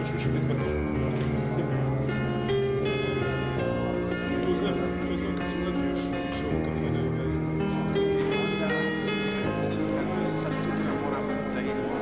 možeš više da izbaciš. To znam kad sam mlađi još išao u kafane. Sad sutra moram da idemo.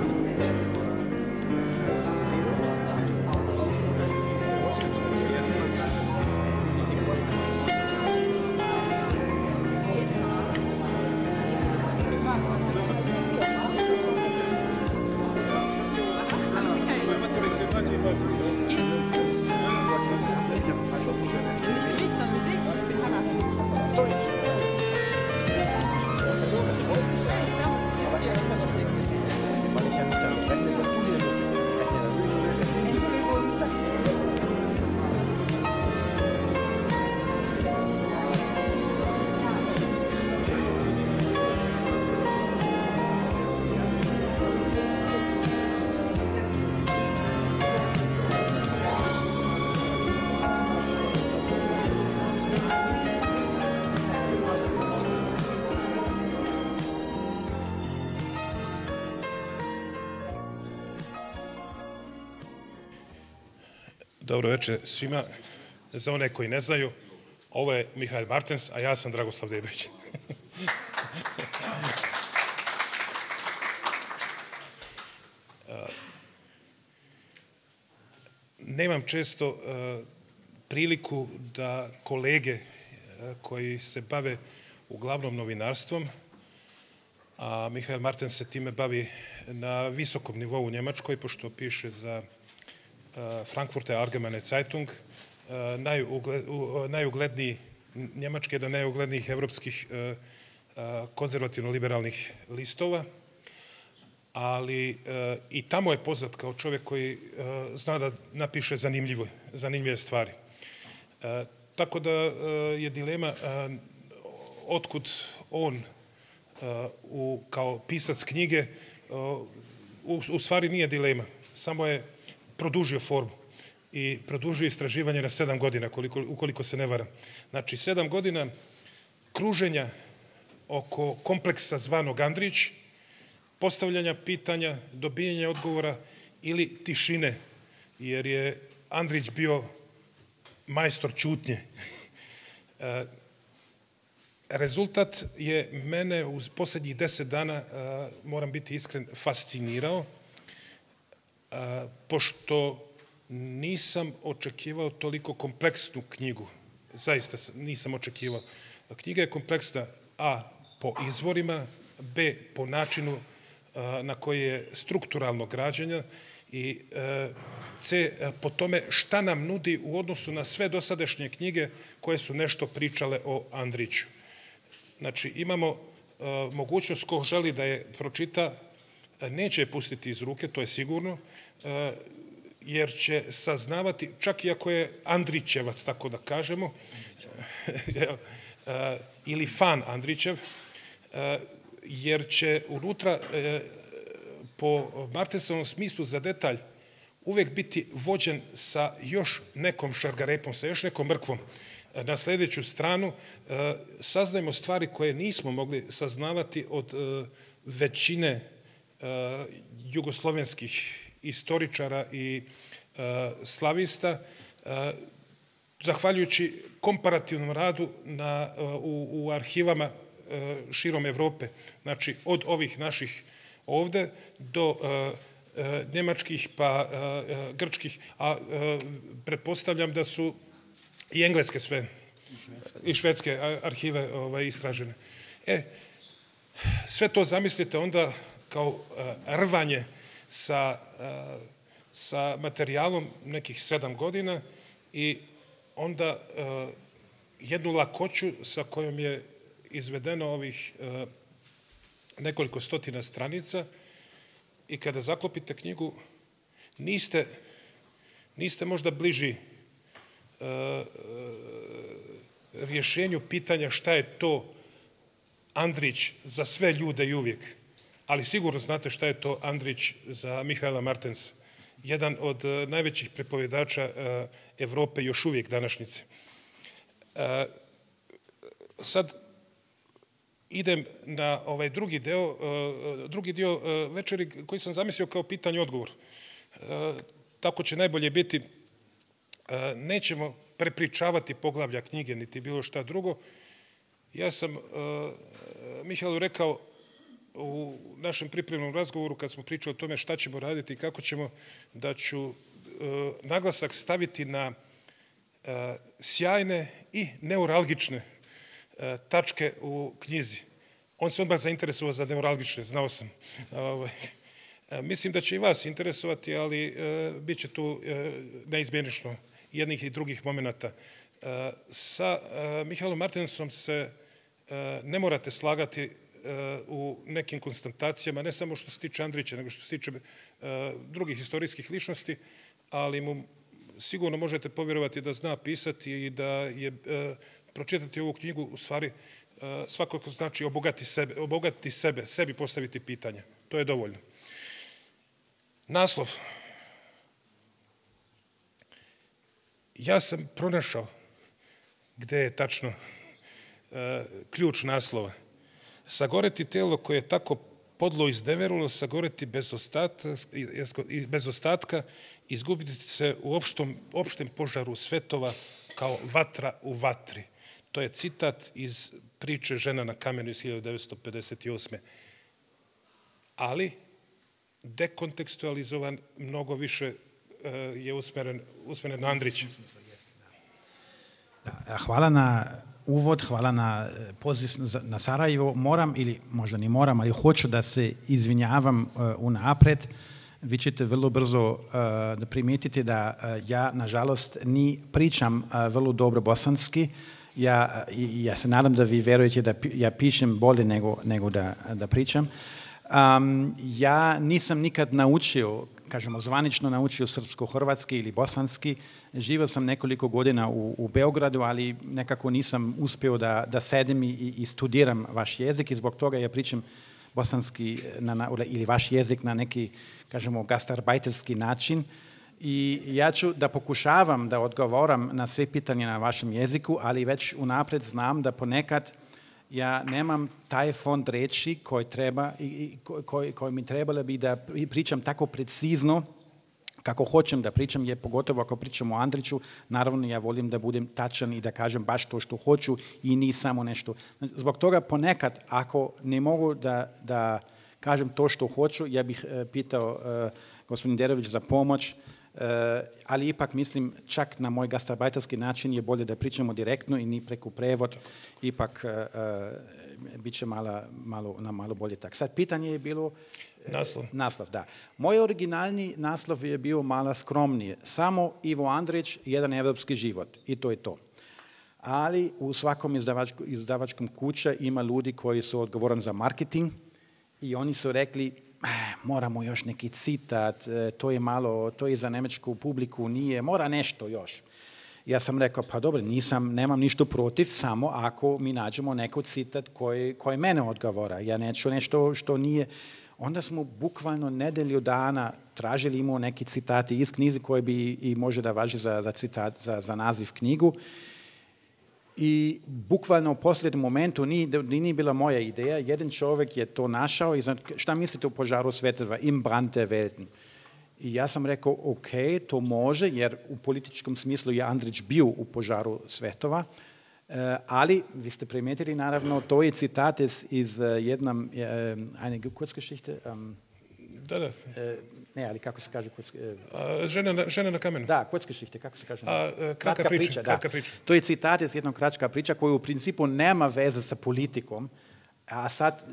Dobro večer svima. Za one koji ne znaju, ovo je Mihael Martens, a ja sam Dragoslav Dedović. Nemam često priliku da kolege koji se bave uglavnom novinarstvom, a Mihael Martens se time bavi na visokom nivou u Njemačkoj, pošto piše za Frankfurter Allgemeine Zeitung, najugledniji njemački, jedan najuglednijih evropskih konzervativno-liberalnih listova, ali i tamo je poznat kao čovjek koji zna da napiše zanimljive stvari. Tako da je dilema otkud on kao pisac knjige u stvari nije dilema, samo je produžio formu i produžio istraživanje na 7 godina, ukoliko se ne varam. Znači, 7 godina kruženja oko kompleksa zvanog Andrić, postavljanja pitanja, dobijanja odgovora ili tišine, jer je Andrić bio majstor ćutnje. Rezultat je mene u posljednjih 10 dana, moram biti iskren, fascinirao, pošto nisam očekivao toliko kompleksnu knjigu. Zaista nisam očekivao. Knjiga je kompleksna, a po izvorima, b po načinu na koji je strukturalno građena i c po tome šta nam nudi u odnosu na sve dosadašnje knjige koje su nešto pričale o Andriću. Znači, imamo mogućnost ko želi da je pročita, neće je pustiti iz ruke, to je sigurno, jer će saznavati, čak i ako je Andrićevac, tako da kažemo, ili fan Andrićev, jer će unutra po Martensovom smislu za detalj uvek biti vođen sa još nekom šargarepom, sa još nekom mrkvom. Na sljedeću stranu saznajemo stvari koje nismo mogli saznavati od većine jugoslovenskih istoričara i slavista, zahvaljujući komparativnom radu u arhivama širom Evrope. Znači, od ovih naših ovde do njemačkih pa grčkih, a pretpostavljam da su i engleske sve i švedske arhive istražene. Sve to zamislite onda kao rvanje sa materijalom nekih 7 godina i onda jednu lakoću sa kojom je izvedeno ovih nekoliko stotina stranica i kada zaklopite knjigu niste možda bliži rješenju pitanja šta je to Andrić za sve ljude i uvijek, ali sigurno znate šta je to Andrić za Mihaela Martensa, jedan od najvećih prepovjedača Evrope još uvijek današnjice. Sad idem na ovaj drugi dio večeri koji sam zamislio kao pitanje-odgovor. tako će najbolje biti, nećemo prepričavati poglavlja knjige, niti bilo šta drugo. Ja sam Mihajlu rekao u našem pripremnom razgovoru, kad smo pričali o tome šta ćemo raditi i kako ćemo, da ću naglasak staviti na sjajne i neuralgične tačke u knjizi. On se odmah zainteresovao za neuralgične, znao sam. Mislim da će i vas interesovati, ali bit će tu neizmjenično jednih i drugih momenata. Sa Mihajlom Martinsom se ne morate slagati u nekim konstatacijama, ne samo što se tiče Andrića, nego što se tiče drugih istorijskih ličnosti, ali mu sigurno možete povjerovati da zna pisati i da je pročitati ovu knjigu u stvari svakako znači obogatiti sebe, sebi postaviti pitanja. To je dovoljno. Naslov. Ja sam pronašao gde je tačno ključ naslova. Sagoreti telo koje je tako podlo izneverulo, sagoreti bez ostatka, izgubiti se u opštem požaru svetova kao vatra u vatri. To je citat iz priče Žena na kamenu iz 1958. Ali dekontekstualizovan, mnogo više je usmeren na Andrića. Hvala na uvod, hvala na poziv na Sarajevo. Moram, ili možda ni moram, ali hoću da se izvinjavam unapred. Vi ćete vrlo brzo da primijetite da ja, nažalost, ni pričam vrlo dobro bosanski. Ja se nadam da vi verujete da ja pišem bolje nego da pričam. Ja nisam nikad naučio, kažemo zvanično naučio srpsko-hrvatski ili bosanski. Živio sam nekoliko godina u Beogradu, ali nekako nisam uspio da sedim i studiram vaš jezik i zbog toga ja pričam bosanski ili vaš jezik na neki, kažemo, gastarbajterski način. I ja ću da pokušavam da odgovoram na sve pitanje na vašem jeziku, ali već unapred znam da ponekad ja nemam taj fond reči koji mi trebalo bi da pričam tako precizno kako hoćem da pričam, je pogotovo ako pričam o Andriću, naravno ja volim da budem tačan i da kažem baš to što hoću i ni samo nešto. Zbog toga ponekad, ako ne mogu da kažem to što hoću, ja bih pitao gospodin Derović za pomoć, ali ipak mislim čak na moj gastarbajterski način je bolje da pričamo direktno i ni preko prevod, ipak bit će malo bolje tak. Sad pitanje je bilo naslov, da. Moj originalni naslov je bio malo skromnije. Samo Ivo Andrić, jedan evropski život i to je to. Ali u svakom izdavačkom kuća ima ljudi koji su odgovorni za marketing i oni su rekli moramo još neki citat, to je za nemečku publiku, nije, mora nešto još. Ja sam rekao, pa dobro, nemam ništa protiv, samo ako mi nađemo neko citat koji mene odgovara. Ja neću nešto što nije. Onda smo bukvalno nedelju dana tražili, imao neki citati iz knjizi koji bi i može da važi za citat, za naziv knjigu. I bukvalno u posljednjem momentu nije bila moja ideja, jedan čovjek je to našao i šta mislite o požaru svetova, im brannte Welten. I ja sam rekao, ok, to može, jer u političkom smislu je Andrić bio u požaru svetova, ali vi ste primijetili naravno, to je citat iz jednom, eine Kurzgeschichte. Da. Ne, ali kako se kaže? Žena na kamenu. Da, Kurzgeschichte, kako se kaže? Kratka priča. To je citat iz jednog kratka priča koja u principu nema veze sa politikom, a sad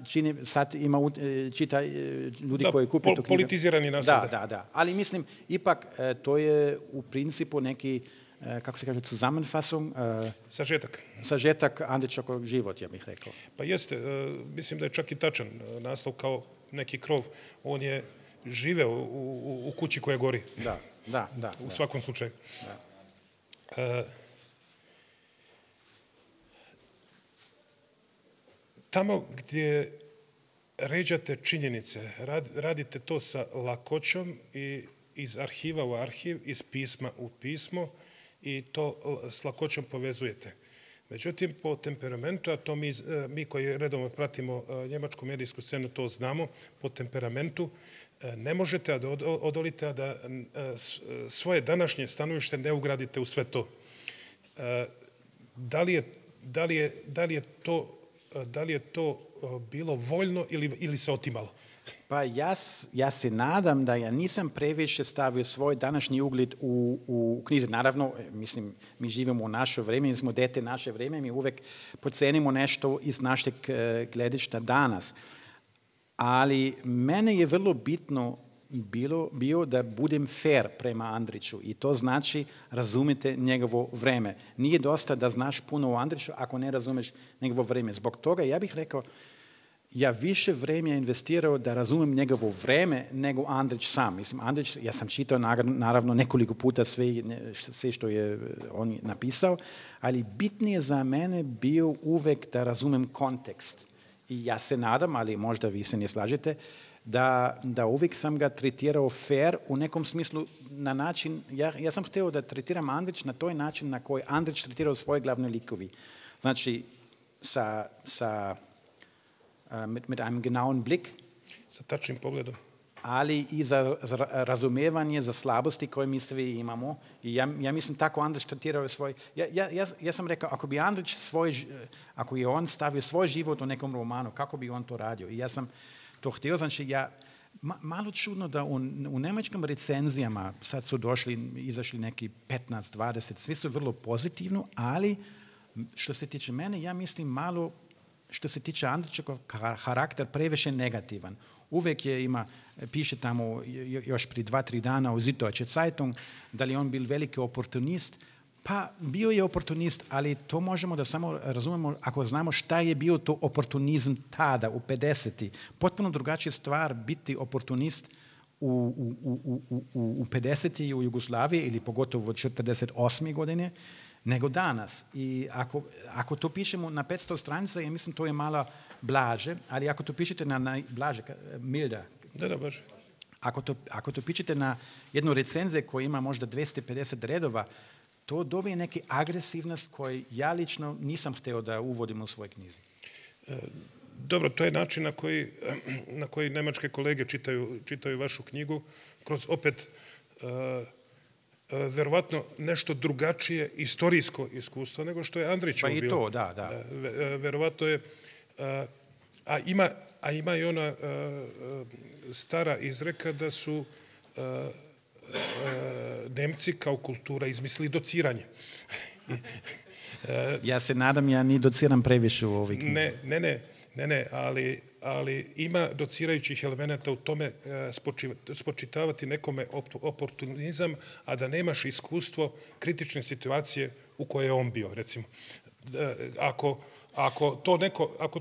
čita ljudi koji kupe tu knjigu. Politizirani naslov. Da. Ali mislim, ipak to je u principu neki, kako se kaže, Zusammenfassung. Sažetak Andrićevog život, ja bih rekao. Pa jeste, mislim da je čak i tačan naslov kao neki krov. On je živeo u kući koja gori. Da. U svakom slučaju. Tamo gdje ređate činjenice, radite to sa lakoćom i iz arhiva u arhiv, iz pisma u pismo i to s lakoćom povezujete. Međutim, po temperamentu, a to mi koji redovno pratimo njemačku medijsku scenu, to znamo, po temperamentu ne možete da odolite, a da svoje današnje stanovište ne ugradite u sve to. Da li je to bilo voljno ili se otimalo? Pa ja se nadam da ja nisam previše stavio svoj današnji ugled u knjizi. Naravno, mislim, mi živimo u naše vrijeme, mi smo dete naše vrijeme, mi uvijek pocenimo nešto iz našeg gledišta danas. Ali mene je vrlo bitno bio da budem fair prema Andriću i to znači razumite njegovo vreme. Nije dosta da znaš puno o Andriću ako ne razumeš njegovo vreme. Zbog toga ja bih rekao, ja više vremena investirao da razumem njegovo vreme nego Andrić sam. Mislim, Andrić, ja sam čitao naravno nekoliko puta sve što je on napisao, ali bitnije za mene bio uvek da razumem kontekst. I ja se nadam, ali možda vi se ne slažete, da uvijek sam ga tretirao fair u nekom smislu na način, ja sam htio da tretiram Andrić na toj način na koji Andrić tretirao svoje glavne likovi. Znači, mit einem genauen Blick. Sa tačnim pogledom. Ali i za razumevanje, za slabosti koje mi svi imamo. I ja mislim tako Andrić tretirao svoj... Ja sam rekao, ako je on stavio svoj život u nekom romanu, kako bi on to radio? I ja sam to htio, znači malo čudno da u njemačkim recenzijama sad su izašli neki 15, 20, svi su vrlo pozitivno, ali što se tiče mene, ja mislim malo što se tiče Andrićevog karakter previše negativan. Uvijek piše tamo još prije 2-3 dana u Süddeutsche Zeitung da li on bil veliki oportunist. Pa bio je oportunist, ali to možemo da samo razumemo ako znamo šta je bio to oportunizam tada, u 50. Potpuno drugačija stvar biti oportunist u 50. u Jugoslaviji ili pogotovo od 48. godine nego danas. I ako to pišemo na 500 stranica, ja mislim to je malo blaže, ali ako to pišete na blaže, milda. Da, blaže. Ako to pišete na jednu recenziju koja ima možda 250 redova, to dobije neke agresivnost koju ja lično nisam htio da uvodim u svoj knjizi. Dobro, to je način na koji nemačke kolege čitaju vašu knjigu, kroz opet verovatno nešto drugačije istorijsko iskustvo nego što je Andrićevo bilo. Pa i to, da. Verovatno je, a ima i ona stara izreka da su Nemci kao kultura izmislili dociranje. Ja se nadam, ja ni dociram previše u ovoj knjizi. Ne, ali ima docirajućih elemenata u tome spočitavati nekome oportunizam, a da nemaš iskustvo kritične situacije u kojoj je on bio, recimo. Ako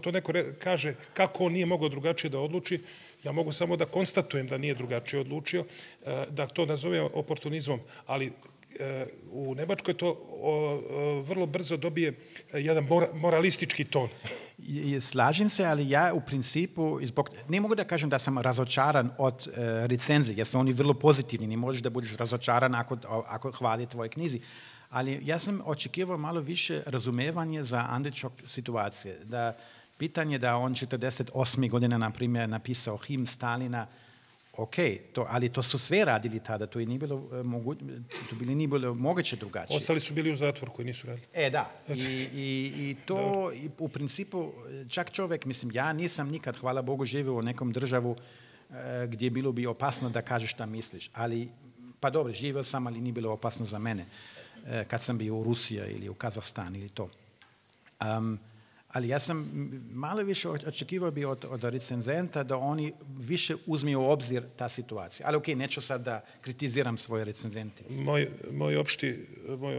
to neko kaže kako on nije mogao drugačije da odluči, ja mogu samo da konstatujem da nije drugačije odlučio, da to nazovem oportunizmom, ali u Nemačkoj to vrlo brzo dobije jedan moralistički ton. Slažem se, ali ja u principu, ne mogu da kažem da sam razočaran od recenzije, jer su oni vrlo pozitivni, ne možeš da budeš razočaran ako hvali tvoje knjizi. Ali ja sam očekivao malo više razumevanje za Andrićov situacije. Da pitanje da on 48. godine, na primjer, napisao himn Stalina, ok, ali to su sve radili tada, to nije bilo moguće drugačije. Ostali su bili u zatvoru koji nisu radili. Da, i to u principu, čak čovjek, mislim, ja nisam nikad, hvala Bogu, živio u nekom državu gdje bilo bi opasno da kažeš šta misliš, ali, pa dobro, živio sam, ali nije bilo opasno za mene, kad sam bio u Rusiji ili u Kazahstan ili to. Ali ja sam malo više očekivao bi od recenzenta da oni više uzmiju u obzir ta situacija. Ali neću sad da kritiziram svoje recenzente. Moj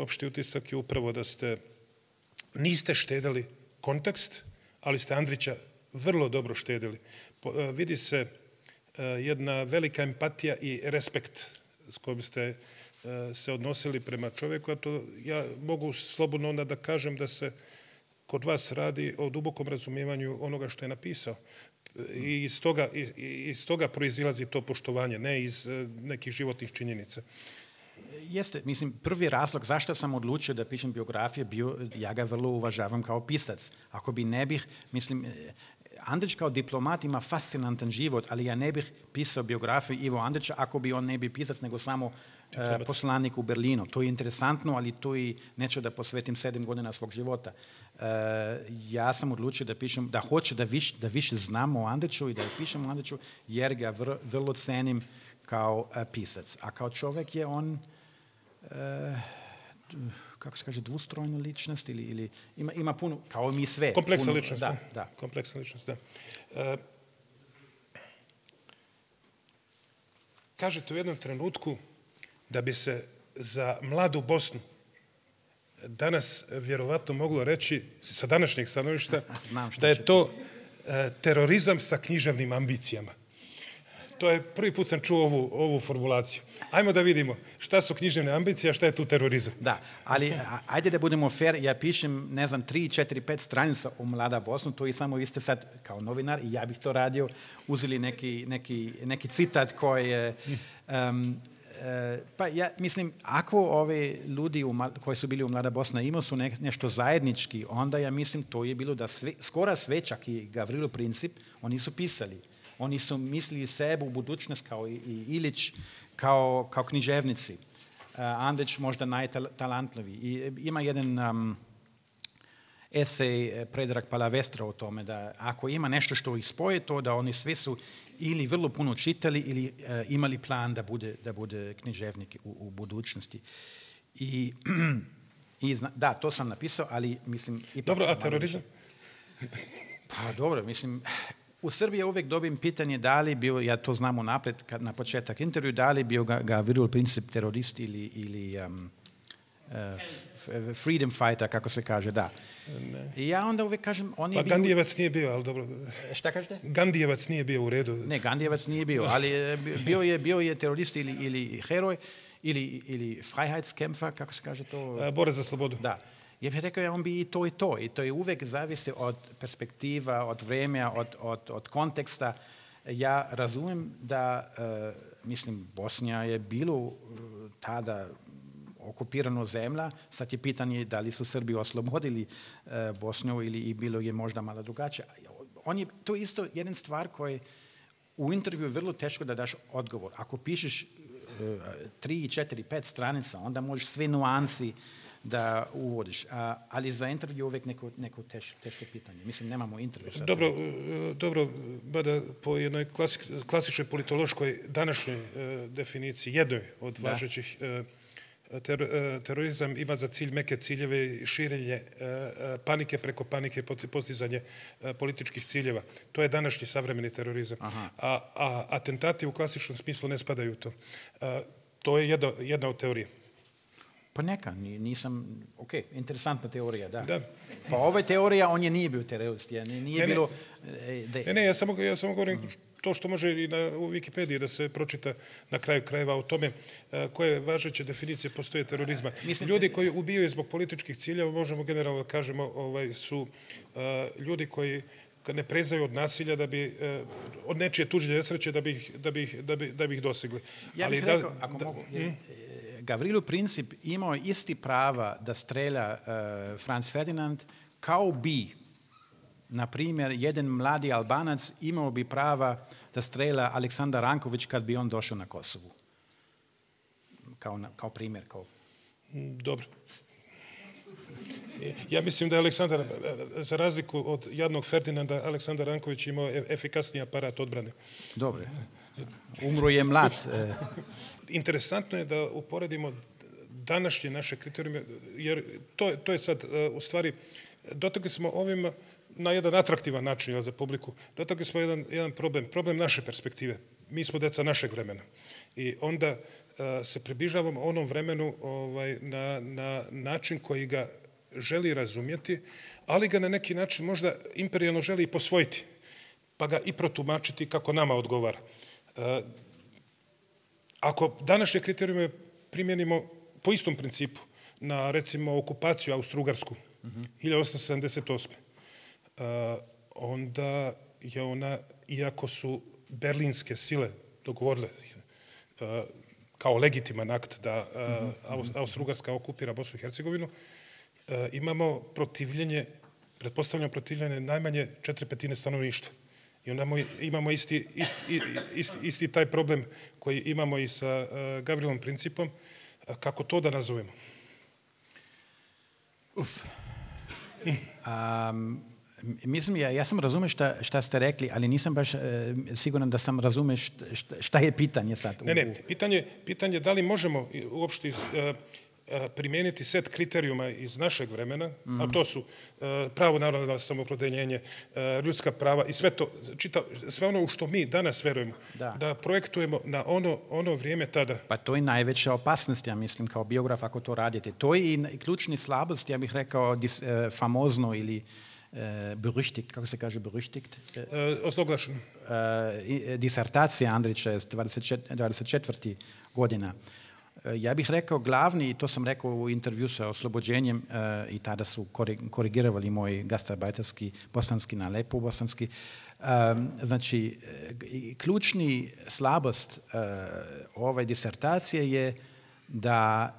opšti utisak je upravo da niste štedili kontekst, ali ste Andrića vrlo dobro štedili. Vidi se jedna velika empatija i respekt s kojim ste se odnosili prema čovjeku, a to ja mogu slobodno onda da kažem da se kod vas radi o dubokom razumijevanju onoga što je napisao. I iz toga proizilazi to poštovanje, ne iz nekih životnih činjenica. Jeste, mislim, prvi razlog zašto sam odlučio da pišem biografiju bio, ja ga vrlo uvažavam kao pisac. Ako bi ne bih, mislim, Andrić kao diplomat ima fascinantan život, ali ja ne bih pisao biografiju Ivo Andrića ako bi on ne bi pisac, nego samo poslanik u Berlinu. To je interesantno, ali tu i neću da posvetim 7 godina svog života. Ja sam odlučio da pišem, da hoću da više znam o Andriću i da pišem o Andriću, jer ga vrlo cenim kao pisac. A kao čovjek je on, kako se kaže, dvostrojna ličnost ili ima puno, kao mi sve. Kompleksna ličnost, da. Kompleksna ličnost, da. Kažete u jednom trenutku da bi se za mladu Bosnu danas vjerovatno moglo reći, sa današnjeg stanovišta, da je to terorizam sa književnim ambicijama. To je prvi put sam čuo ovu formulaciju. Ajmo da vidimo šta su književne ambicije, a šta je tu terorizam. Da, ali ajde da budemo fair, ja pišem, ne znam, 3, 4, 5 stranica o Mlada Bosnu, to i samo vi ste sad kao novinar i ja bih to radio, uzeli neki citat koji je... pa ja mislim, ako ovi ljudi koji su bili u Mlada Bosna imali su nešto zajednički, onda ja mislim to je bilo da skoro sve, čak i Gavrilo Princip, oni su pisali. Oni su mislili sebe u budućnost kao i Ilić, kao književnici. Andrić možda najtalantljiviji. I ima jedan esej Predrag Palavestra o tome da ako ima nešto što ih spoje, to da oni svi su ili vrlo puno čitali ili imali plan da bude književnik u budućnosti. Da, to sam napisao, ali mislim... Dobro, a terorizam? Pa dobro, mislim... U Srbiji uvijek dobim pitanje da li bio, ja to znam unaprijed na početak intervju, da li bio Gavrilo Princip terorist ili freedom fighter, kako se kaže, da. Ne. I ja onda uvijek kažem, on je pa bio... Gandijevac nije bio, ali dobro. Šta kažete? Gandijevac nije bio u redu. Ne, Gandijevac nije bio, ali bio je terorist ili heroj ili Freiheitskämpfer, kako se kaže to? Borac za slobodu. Da. Ja bih rekao, on bi i to. I to je uvijek zavisi od perspektiva, od vremena, od konteksta. Ja razumijem da, mislim, Bosnija je bilo tada okupirano zemlja. Sad je pitanje da li su Srbi oslobodili Bosniju ili bilo je možda malo drugačije. To je isto jedna stvar koja u intervju je vrlo teško da daš odgovor. Ako pišeš 3, 4, 5 stranica, onda možeš sve nuansi da uvodiš, ali za intervju uvijek neko teško pitanje. Mislim, nemamo intervju. Dobro, bada po jednoj klasičnoj politološkoj današnjoj definiciji, jednoj od važećih, terorizam ima za cilj meke ciljeve i širenje panike preko panike, postizanje političkih ciljeva. To je današnji savremeni terorizam. A atentati u klasičnom smislu ne spadaju u to. To je jedna od teorija. Pa neka, nisam, ok, interesantna teorija, da. Da. Pa ova teorija, on je nije bio terorist, nije bilo... Ne, ja samo govorim to što može i u Wikipediji da se pročita na kraju krajeva o tome koje važeće definicije postoje terorizma. Ljudi koji ubijaju zbog političkih ciljeva, možemo generalno da kažemo, su ljudi koji ne prezaju od nasilja, da bi od nečije tuđe nesreće da bi ih dosegli. Ja bih rekao, ako mogu... Gavrilo Princip imao isti prava da strelja Franz Ferdinand kao bi, na primjer, jedan mladi Albanac imao bi prava da strelja Aleksandar Ranković kad bi on došao na Kosovu. Kao primjer. Dobro. Ja mislim da je Aleksandar, za razliku od jadnog Ferdinanda, Aleksandar Ranković imao efikasniji aparat odbrane. Dobro. Umro je mlad. Interesantno je da uporedimo današnje naše kriterijume, jer to je sad, u stvari, dotakli smo ovim na jedan atraktivan način za publiku, dotakli smo jedan problem naše perspektive. Mi smo deca našeg vremena. I onda se približavamo onom vremenu na način koji ga želi razumjeti, ali ga na neki način možda imperijalno želi i posvojiti, pa ga i protumačiti kako nama odgovara. Ako današnje kriterijume primjenimo po istom principu na, recimo, okupaciju Austro-Ugarsku 1878. Onda je ona, iako su berlinske sile dogovorile kao legitiman akt da Austro-Ugarska okupira Bosnu i Hercegovinu, imamo protivljenje, pretpostavljamo protivljenje najmanje 4/5 stanovništva. I onda imamo isti taj problem koji imamo i sa Gavrilom Principom. Kako to da nazovemo? Mislim, ja sam razumio šta ste rekli, ali nisam baš siguran da sam razumio šta je pitanje sad. Ne, pitanje da li možemo uopšte primijeniti set kriterijuma iz našeg vremena, a to su pravo naroda na samoopredeljenje, ljudska prava i sve to, sve ono u što mi danas verujemo, da projektujemo na ono vrijeme tada. Pa to je najveća opasnost, ja mislim, kao biograf ako to radite. To je i ključni slabost, ja bih rekao, famozno ili berüchtigt, kako se kaže berüchtigt? Ozloglašeno. Disertacija Andrića je 24. godina. Ja bih rekao glavni, i to sam rekao u intervju sa Oslobođenjem, i tada su korigirali moj gastarbajterski bosanski na lepo bosanski. Znači, ključni slabost ove disertacije je da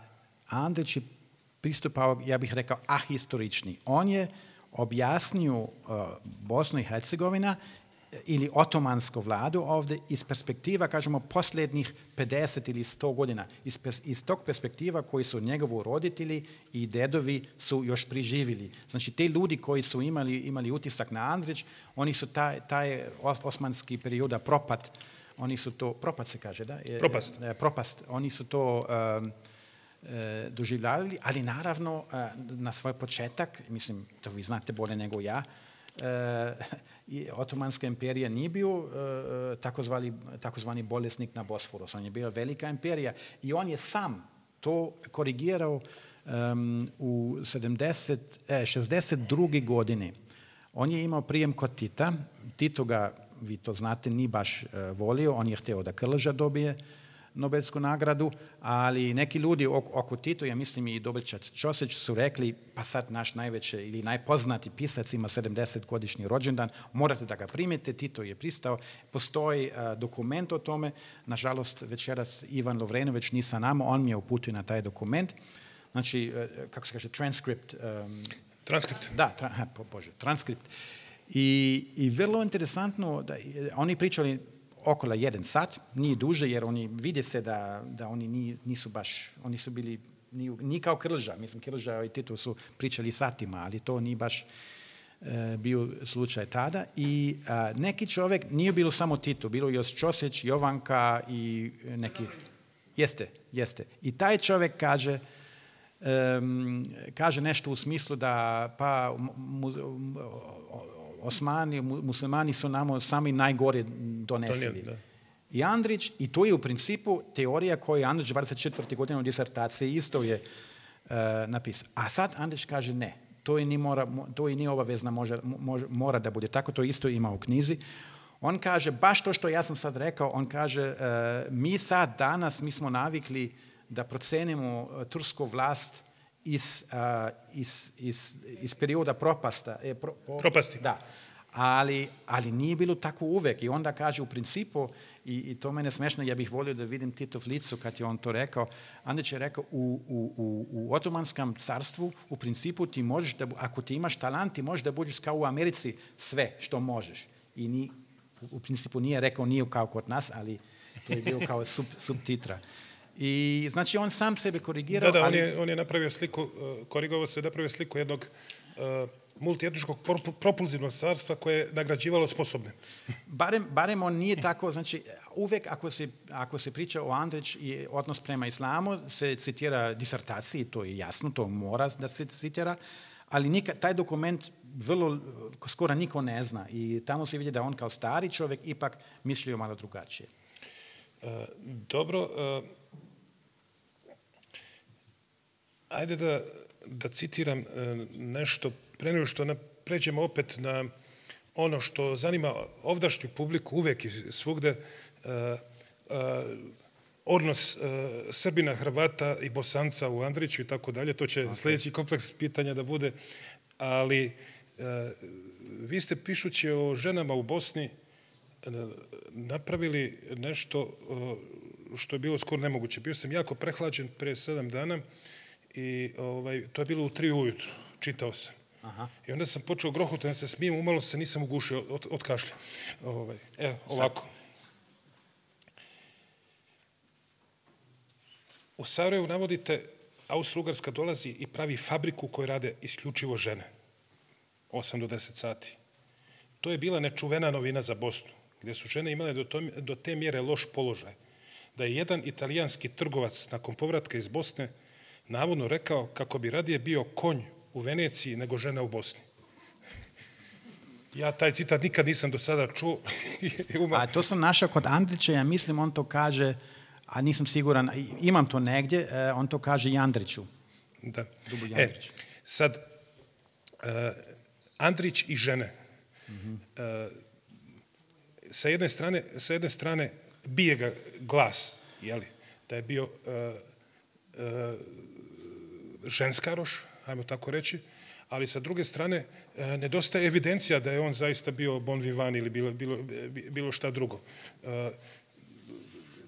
Andrić je pristupao, ja bih rekao, ahistorični. On je objasnio Bosnu i Hercegovina ili otomansku vladu ovdje iz perspektiva, kažemo, posljednjih 50 ili 100 godina. Iz tog perspektiva koji su njegovi roditelji i dedovi su još priživjeli. Znači, te ljudi koji su imali utisak na Andrić, oni su taj osmanski perioda propad, oni su to, propad se kaže, da? Propast. Oni su to doživljavali, ali naravno na svoj početak, mislim, to vi znate bolje nego ja, Otomanska imperija nije bio takozvani bolesnik na Bosforus, on je bio velika imperija i on je sam to korigirao u 62. godine. On je imao prijem kod Tita, Tito ga, vi to znate, nije baš volio, on je htio da Krleža dobije Nobelsku nagradu, ali neki ljudi oko Tito, ja mislim i Dobrić Ćosić, su rekli, pa sad naš najveći ili najpoznati pisac ima 70-godišnji rođendan, morate da ga primite. Tito je pristao. Postoji dokument o tome, nažalost večeras Ivan Lovrenović nije sa nama, on mi je uputio na taj dokument. Znači, kako se kaže, transkript. Transkript. Da, transkript. I vrlo interesantno, da oni pričali okolo 1 sat, nije duže, jer oni vide se da oni nisu baš, oni su bili, nije kao Krleža, mislim Krleža i Tito su pričali satima, ali to nije baš bio slučaj tada. I neki čovjek, nije bilo samo Tito, bilo još Ćosić, Jovanka i neki... Jeste. I taj čovjek kaže nešto u smislu da pa Osmani, muslimani su nam sami najgore donesili. I Andrić, i to je u principu teorija koju je Andrić 24. godine u disertaciji isto je napisao. A sad Andrić kaže ne, to i nije obavezno, mora da bude tako, to isto ima u knjizi. On kaže, baš to što ja sam sad rekao, on kaže, mi sad danas, mi smo navikli da procenimo tursku vlast iz perioda propasti. Da. Ali nije bilo tako uvek. I onda kaže u principu, i to mene smešno, ja bih volio da vidim Titov licu kad je on to rekao. Andrić je rekao, u Otomanskom carstvu u principu ti možeš, ako ti imaš talent, ti možeš da budeš kao u Americi sve što možeš. I u principu nije rekao nije kao kod nas, ali to je bio kao subtitra. I znači on sam sebe korigirao. Da, on je napravio sliku, korigovao se, napravio sliku jednog multietničkog propulzivnog carstva koje je nagrađivalo sposobne. Barem on nije tako, znači uvek ako se priča o Andrić i odnos prema islamu, se citira disertaciji, to je jasno, to mora da se citira, ali taj dokument skoro niko ne zna i tamo se vidi da on kao stari čovjek ipak mislio malo drugačije. Dobro, ajde da citiram nešto, pre nego što pređemo opet na ono što zanima ovdašnju publiku uvek i svugde, odnos Srbina, Hrvata i Bosanca u Andriću i tako dalje. To će sljedeći kompleks pitanja da bude, ali vi ste pišući o ženama u Bosni napravili nešto što je bilo skoro nemoguće. Bio sam jako prehlađen pre 7 dana i to je bilo u 3 ujutru, čitao sam. I onda sam počeo grohuti, da se smijem, umalo se nisam ugušio od kašlja. Evo, ovako. U Sarajevu navodite, Austro-Ugarska dolazi i pravi fabriku u kojoj rade isključivo žene. 8 do 10 sati. To je bila nečuvena novina za Bosnu, gdje su žene imale do te mjere loš položaj, da je jedan italijanski trgovac nakon povratka iz Bosne navodno rekao kako bi radije bio konj u Veneciji nego žena u Bosni. Ja taj citat nikad nisam do sada čuo. A to sam našao kod Andrića, ja mislim on to kaže, a nisam siguran, imam to negdje, on to kaže i Andriću. Da. Sad, Andrić i žene. Sa jedne strane bije ga glas, da je bio ženskaroš, ajmo tako reći, ali sa druge strane nedostaje evidencija da je on zaista bio bon vivant ili bilo šta drugo.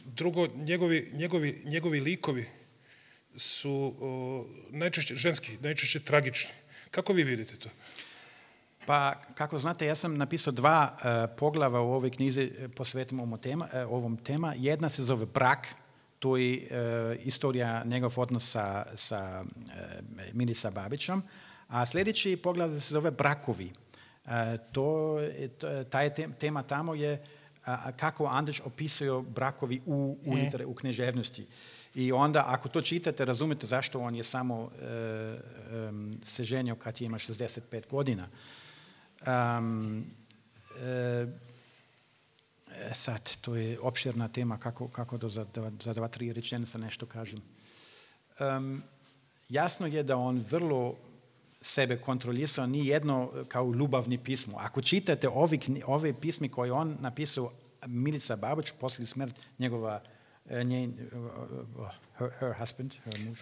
Drugo, njegovi likovi su najčešće ženski, najčešće tragični. Kako vi vidite to? Pa, kako znate, ja sam napisao 2 poglava u ovoj knjizi posvetim ovom tema. Jedna se zove Brak, to je istorija njegov odnos sa Milica Babićom, a sljedeći poglav se zove Brakovi. Ta tema tamo je kako Andrić opisuje brakovi u književnosti. I onda, ako to čitate, razumite zašto on je samo se ženio kad ima 65 godina. Sad, to je opširna tema, kako da za 2-3 rečenice nešto kažem. Jasno je da on vrlo sebe kontrolisao, ni jedno kao ljubavni pismo. Ako čitate ove pismi koje on napisao Milica Babić, poslije smrt njegova her husband, her muž.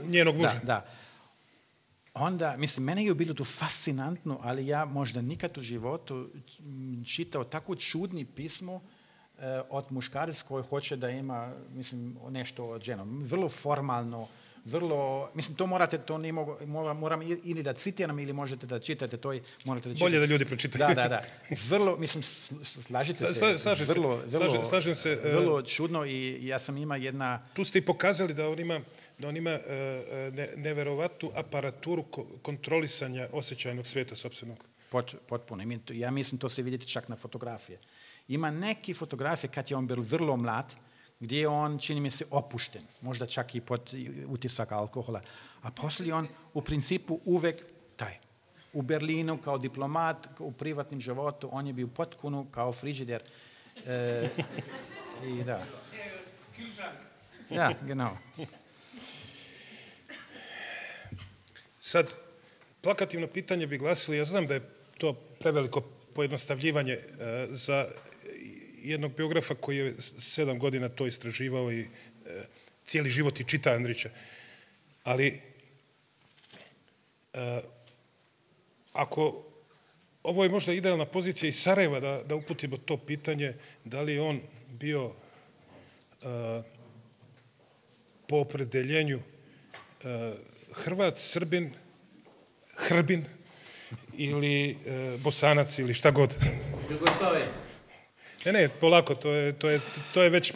Njenog muža. Da. Onda, mislim, mene je bilo to fascinantno, ali ja možda nikad u životu čitao tako čudni pismo od muškarac koji hoće da ima, mislim, nešto od ženom. Vrlo formalno, vrlo, mislim, to morate, to ne moram ili da citiram ili možete da čitate, to morate da čitate. Bolje da ljudi pročitaju. Da. Vrlo, mislim, slažete se. Slažem se. Vrlo čudno i ja sam ima jedna... Tu ste i pokazali da on ima neverovatnu aparaturu kontrolisanja osjećajnog svijeta sopstvenog. Potpuno. Ja mislim, to se vidite čak na fotografije. Ima neke fotografije kad je on bio vrlo mlad, gdje je on, čini mi se, opušten, možda čak i pod utisak alkohola. A poslije on, u principu, uvek u Berlinu kao diplomat, u privatnim životu, on je bio potpuno kao frižider. I da. Ja, genau. Sad, plakativno pitanje bi glasili, ja znam da je to preveliko pojednostavljivanje za jednog biografa koji je 7 godina to istraživao i cijeli život i čita Andrića. Ali ako ovo je možda idealna pozicija iz Sarajeva da uputimo to pitanje, da li je on bio po opredeljenju Hrvat, Srbin, Hrbin ili Bosanac ili šta god. Jugoslavije. Ne, polako, to je već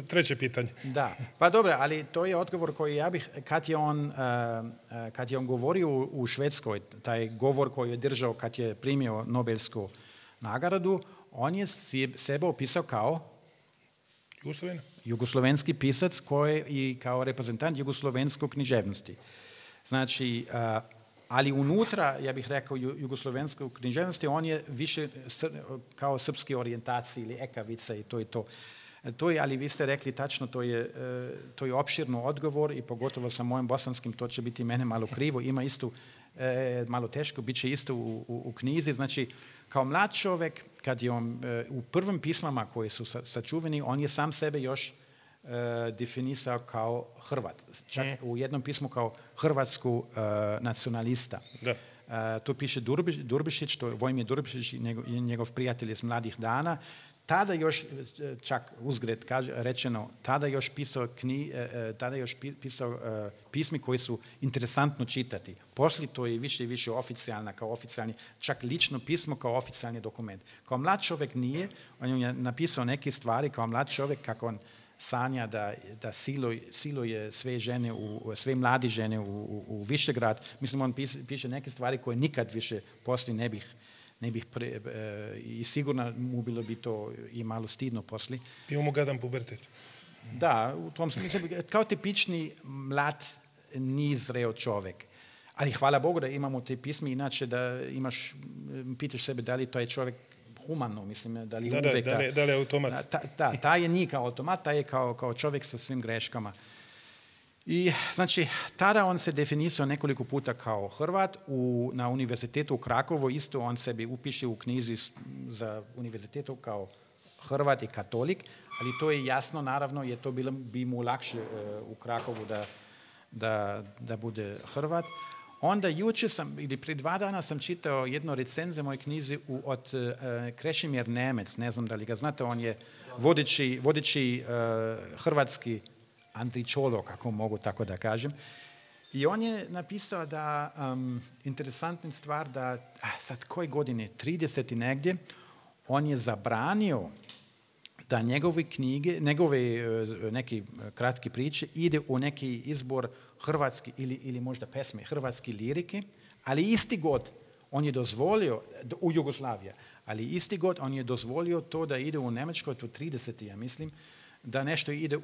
treće pitanje. Da, pa dobro, ali to je odgovor koji ja bih, kad je on govorio u Švedskoj, taj govor koji je držao kad je primio Nobelsku nagradu, on je sebe opisao kao jugoslovenski pisac i kao reprezentant jugoslovenskog književnosti. Znači, ali unutra, ja bih rekao, jugoslovenskog književnosti, on je više kao srpske orijentacije ili ekavice i to je to. Ali vi ste rekli tačno, to je opširno odgovor i pogotovo sa mojim bosanskim, to će biti mene malo krivo, ima isto, malo teško, bit će isto u knjizi. Znači, kao mlad čovjek, kad je on u prvim pismama koji su sačuveni, on je sam sebe još definisao kao Hrvat. Čak u jednom pismu kao hrvatsku nacionalista. To piše Durbišić, to je Vojmir Durbišić, njegov prijatelj iz mladih dana. tada još, čak uzgred rečeno, tada još pisao pismi koji su interesantno čitati. Poslije to je više i više oficijalna, kao oficijalni, čak lično pismo kao oficijalni dokument. Kao mlad čovjek nije, on je napisao neke stvari kao mlad čovjek, kako on sanja da siluje sve mladi žene u Višegrad. Mislim, on piše neke stvari koje nikad više poslije ne bih i sigurno mu bilo bi to i malo stidno poslije. Bio mu gadan pubertet. Da, u tom smislu, kao tipični mlad, nizreo čovjek. Ali hvala Bogu da imamo te pisme, inače da pitaš sebe da li to je čovjek humano, mislim, da li uvijek... Da li je automat? Ta je nije kao automat, ta je kao čovjek sa svim greškama. I znači, tada on se definisao nekoliko puta kao Hrvat. Na univerzitetu u Krakovu isto on sebi upiše u knjizi za univerzitetu kao Hrvat i katolik, ali to je jasno, naravno, jer to bi mu lakše u Krakovu da bude Hrvat. Onda jučer ili prije 2 dana sam čitao jednu recenziju moje knjizi od Krešimir Nemec, ne znam da li ga znate, on je vodeći hrvatski antičolog, ako mogu tako da kažem. I on je napisao da, interesantna stvar, da sad koje godine, 30 negdje, on je zabranio da njegove knjige, neki kratki priče ide u neki izbor hrvatski ili možda pesme, hrvatske lirike, ali isti god on je dozvolio, u Jugoslaviji, ali isti god on je dozvolio to da ide u Njemačkoj, to 30. ja mislim, da nešto ide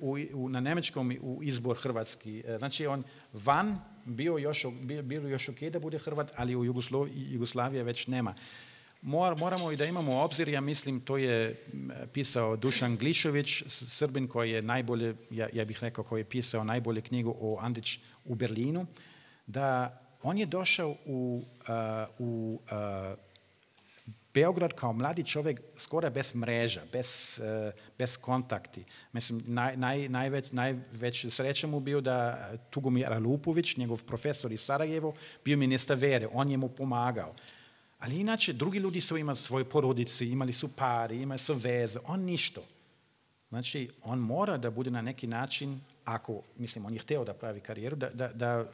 na njemačkom u izbor hrvatski. Znači on van bilo još ok da bude Hrvat, ali u Jugoslaviji već nema. Moramo i da imamo obzir, ja mislim, to je pisao Dušan Glišović, Srbin koji je najbolje, ja bih rekao, koji je pisao najbolje knjigu o Andrić u Berlinu, da on je došao u Beograd kao mladi čovjek skoro bez mreža, bez kontakti. Mislim, najveć sreća mu bio da Tugomir Alupović, njegov profesor iz Sarajevo, bio ministar vere, on je mu pomagao. Ali inače, drugi ljudi su imali svoje porodice, imali su pari, imali su veze, on ništa. Znači, on mora da bude na neki način, on je htio da pravi karijeru, da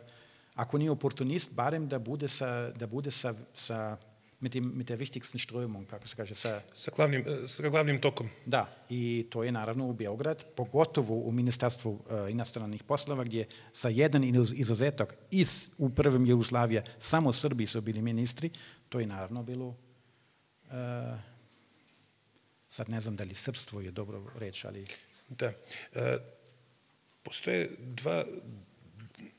ako nije oportunist, barem da bude sa mit der wichtigsten Strömung, kako se kaže, sa glavnim tokom. Da, i to je naravno u Beograd, pogotovo u Ministarstvu inostranih poslova, gdje sa jedan izuzetak u prvim Jugoslavije samo Srbi su bili ministri, to je naravno bilo, sad ne znam da li srpstvo je dobro reći, ali... Da. Postoje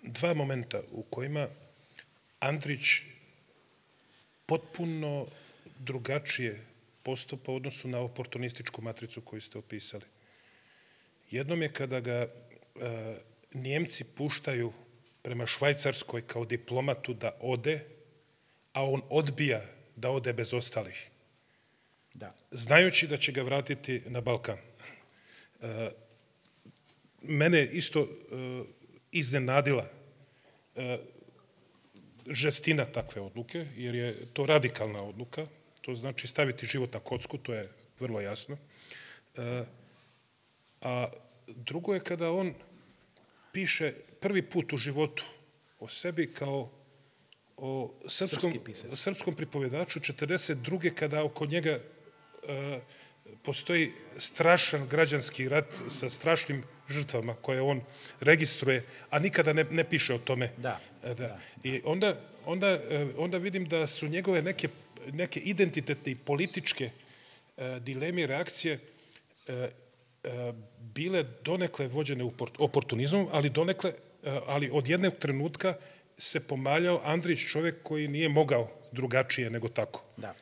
dva momenta u kojima Andrić potpuno drugačije postupa u odnosu na oportunističku matricu koju ste opisali. Jednom je kada ga Njemci puštaju prema Švajcarskoj kao diplomatu da ode, a on odbija da ode bez ostalih. Da. Znajući da će ga vratiti na Balkan. Mene isto iznenadila žestina takve odluke, jer je to radikalna odluka, to znači staviti život na kocku, to je vrlo jasno. A drugo je kada on piše prvi put u životu o sebi kao o srpskom pripovjedaču 1942. kada oko njega postoji strašan građanski rat sa strašnim žrtvama koje on registruje, a nikada ne piše o tome. Da. I onda vidim da su njegove neke identitetne i političke dileme i reakcije bile donekle vođene oportunizmom, ali od jednog trenutka se pomaljao Andrić, čovjek koji nije mogao drugačije nego tako. Da.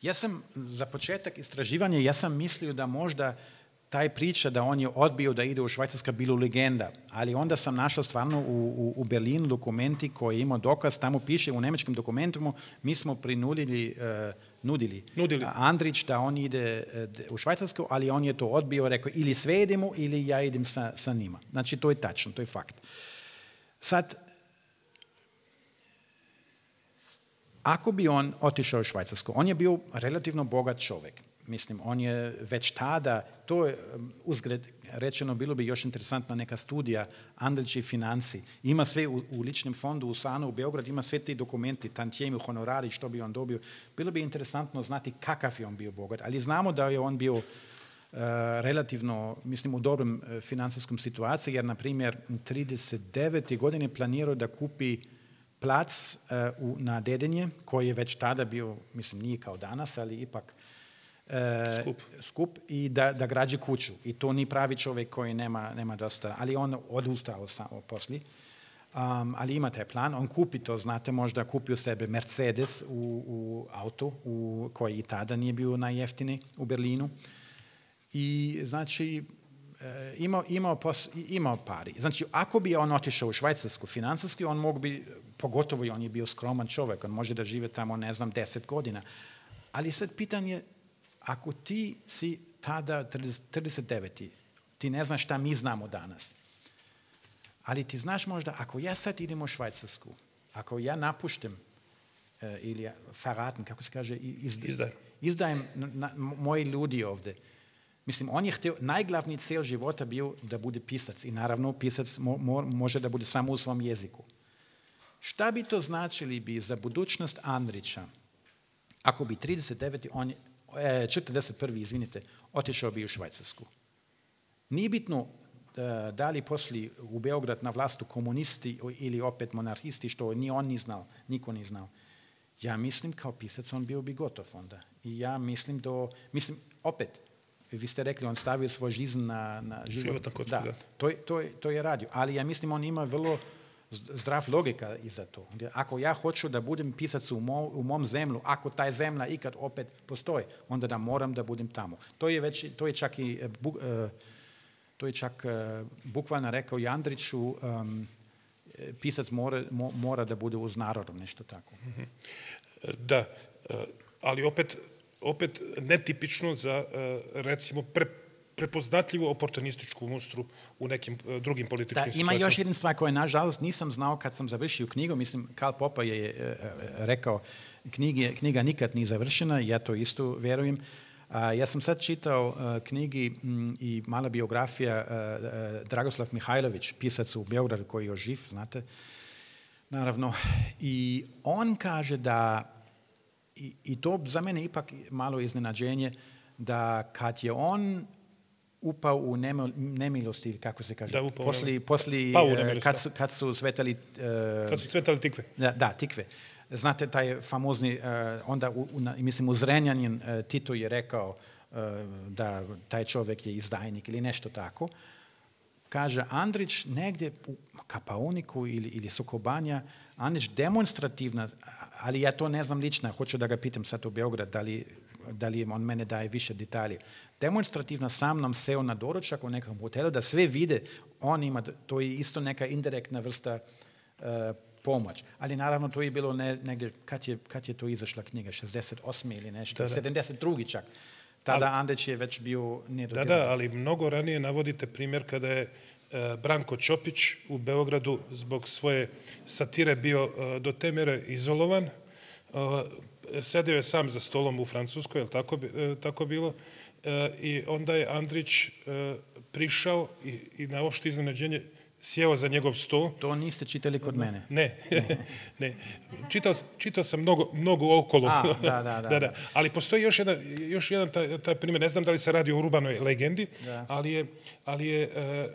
Ja sam za početak istraživanja, ja sam mislio da možda taj priča da on je odbio da ide u Švajcarska bilo legenda, ali onda sam našao stvarno u Berlinu dokumenti koji imao dokaz, tamo piše u njemačkim dokumentima, mi smo nudili Andrić da on ide u Švajcarsku, ali on je to odbio, rekao ili sve idemo ili ja idem sa njima. Znači to je tačno, to je fakt. Sad, ako bi on otišao u Švajcarsku, on je bio relativno bogat čovjek. mislim, on je već tada, to je uzgred rečeno, bilo bi još interesantna neka studija Andrić i financi. Ima sve u ličnom fondu u Sanu u Beogradu, ima sve ti dokumenti, tantijemi, honorari, što bi on dobio. Bilo bi interesantno znati kakav je on bio bogat, ali znamo da je on bio relativno, mislim, u dobrom financijskom situaciji, jer, na primjer, u 39. godine planirao da kupi plac na Dedinje, koji je već tada bio, mislim, nije kao danas, ali ipak skup i da građe kuću. I to nije pravi čovjek koji nema dosta, ali on odustao poslije. Ali ima taj plan, on kupi to, znate, možda kupio sebe Mercedes u auto, koji i tada nije bio najjeftini u Berlinu. I znači, imao pari. Znači, ako bi on otišao u Švajcarsku financijski, on mogu bi, pogotovo i on je bio skroman čovjek, on može da žive tamo, ne znam, 10 godina. Ali sad pitanje, ako ti si tada 39. ti ne znaš šta mi znamo danas, ali ti znaš možda, ako ja sad idem u Švajcarsku, ako ja napuštem ili verraten, kako se kaže, izdajem moji ljudi ovdje. Mislim, on je htio, najglavniji cilj života bio da bude pisac i naravno pisac može da bude samo u svom jeziku. Šta bi to značili bi za budućnost Andrića ako bi 41. Otišao bi u Švajcarsku? Nije bitno da li poslije u Beograd na vlastu komunisti ili opet monarhisti, što ni on ni znao, niko ni znao. Ja mislim kao pisac on bio bi gotov onda. I ja mislim opet, vi ste rekli, on stavio svoj жизнь na život. Da, to je radio. Ali ja mislim, on ima vrlo zdrav logika iza to. Ako ja hoću da budem pisac u mom zemlju, ako taj zemlja ikad opet postoji, onda da moram da budem tamo. To je čak bukvalno rekao i Andriću, pisac mora da bude uz narodom, nešto tako. Da, ali opet netipično za, recimo, prepoznatljivu oportunističku mustru u nekim drugim političkim situacijama. Ima još jedna stvar koju, nažalost, nisam znao kad sam završio knjigu. Mislim, Karl Popper je rekao, knjiga nikad nije završena, ja to isto vjerujem. Ja sam sad čitao knjigi i mala biografija Dragoslav Mihajlović, pisac u Beogradu koji je još živ, znate, naravno. I on kaže da, i to za mene ipak malo iznenađenje, da kad je on upao u nemilosti, kako se kaže, poslije kad su cvetali tikve. Da, tikve. Znate, taj famozni, onda, mislim, u Zrenjanin Tito je rekao da taj čovjek je izdajnik ili nešto tako. Kaže, Andrić negdje u Kapaoniku ili Sokobanja, Andrić demonstrativna, ali ja to ne znam lično, hoću da ga pitam sad u Beograd, da li on mene daje više detalje. Demonstrativno sam nam seo na doručak u nekom hotelu, da sve vide, on ima, to je isto neka indirektna vrsta pomoć. Ali naravno to je bilo negdje, kad je to izašla knjiga, 68. ili nešto, 72. čak. Tada Andrić je već bio nedodjeljiv. Da, ali mnogo ranije navodite primjer kada je Branko Ćopić u Beogradu zbog svoje satire bio do te mere izolovan. Sedeo je sam za stolom u Francuskoj, je li tako bilo? I onda je Andrić prišao i na opšte iznenađenje sjeo za njegov sto. To niste čitali kod mene? Ne. Čitao sam mnogo okolo. Da. Ali postoji još jedan taj primjer. Ne znam da li se radi o urbanoj legendi,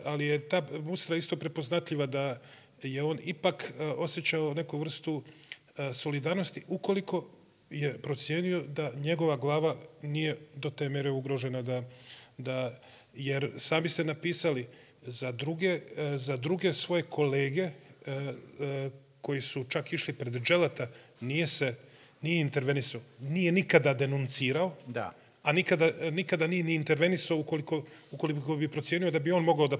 ali je ta mustra isto prepoznatljiva da je on ipak osjećao neku vrstu solidarnosti ukoliko je procijenio da njegova glava nije do te mere ugrožena, jer sami ste napisali za druge svoje kolege koji su čak išli pred dželata, nije intervenisao, nije nikada denuncirao, a nikada nije ni intervenisao ukoliko bi procijenio da bi on mogao da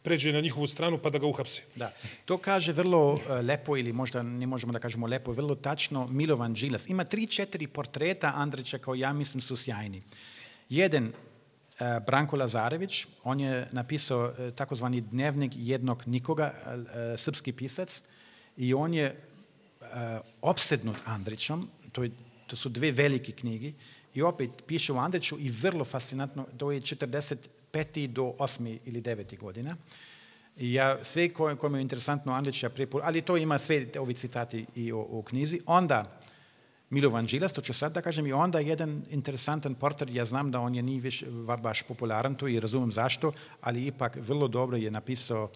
pređe na njihovu stranu pa da ga uhapse. Da, to kaže vrlo lepo, ili možda ne možemo da kažemo lepo, vrlo tačno Milovan Đilas. Ima 3-4 portreta Andrića koji ja mislim su sjajni. Jedan, Branko Lazarević, on je napisao takozvani dnevnik jednog nikoga, srpski pisac, i on je opsednut Andrićom, to su dve velike knjige, i opet piše o Andriću i vrlo fascinantno, to je 45. do 8. ili 9. godina. I ja sve kome je interesantno Andrić, ali to ima sve ovi citati i o knjizi. Onda Milovan Đilas, to ću sad da kažem, i onda jedan interesantan portret, ja znam da on je nije više baš popularan tu i razumijem zašto, ali ipak vrlo dobro je napisao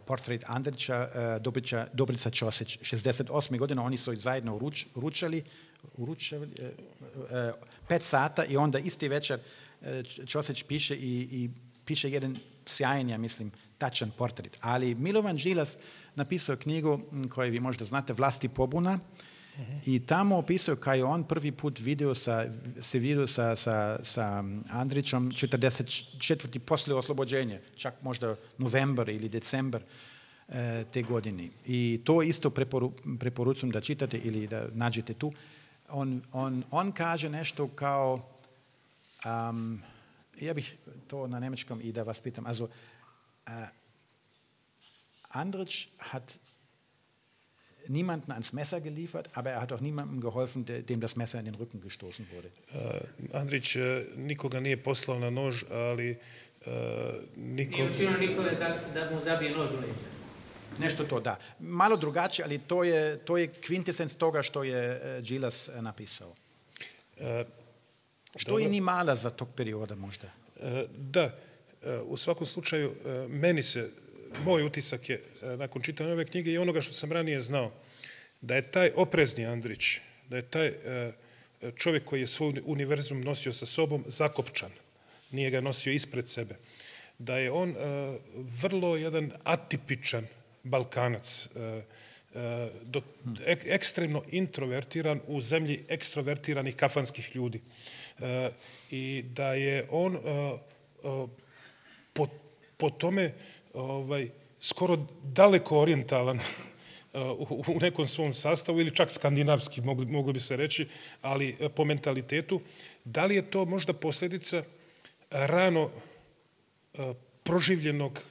portret Andrića, Dobrica Ćosić, 68. godina, oni su zajedno ručali 5 sata i onda isti večer Ćosić piše i piše jedan sjajan, ja mislim, tačan portret. Ali Milovan Đilas napisao knjigu koju vi možda znate, Vlast i pobuna, i tamo opisao kao je on prvi put se vidio sa Andrićom 44. poslije oslobođenja, čak možda novembar ili decembar te godine. I to isto preporučujem da čitate ili da nađete tu. On kaže nešto kao, ja bih to na njemačkom i da vas pitam, also, Andrić hat niemanden ans Messer geliefert, aber er hat auch niemandem geholfen, dem das Messer in den Rücken gestoßen wurde. Andrić nikoga nije poslao na nož, ali nije učinio nikome da mu zabije nož u leđa. Nešto to, da. Malo drugačije, ali to je kvintesens toga što je Đilas napisao. Što je ni mala za tog perioda možda. Da, u svakom slučaju, moj utisak je, nakon čitanja ove knjige i onoga što sam ranije znao, da je taj oprezni Andrić, da je taj čovjek koji je svoj univerzum nosio sa sobom zakopčan, nije ga nosio ispred sebe, da je on vrlo jedan atipičan Balkanac, ekstremno introvertiran u zemlji ekstrovertiranih kafanskih ljudi. I da je on po tome skoro daleko orijentalan u nekom svom sastavu ili čak skandinavski, moglo bi se reći, ali po mentalitetu. Da li je to možda posljedica rano proživljenog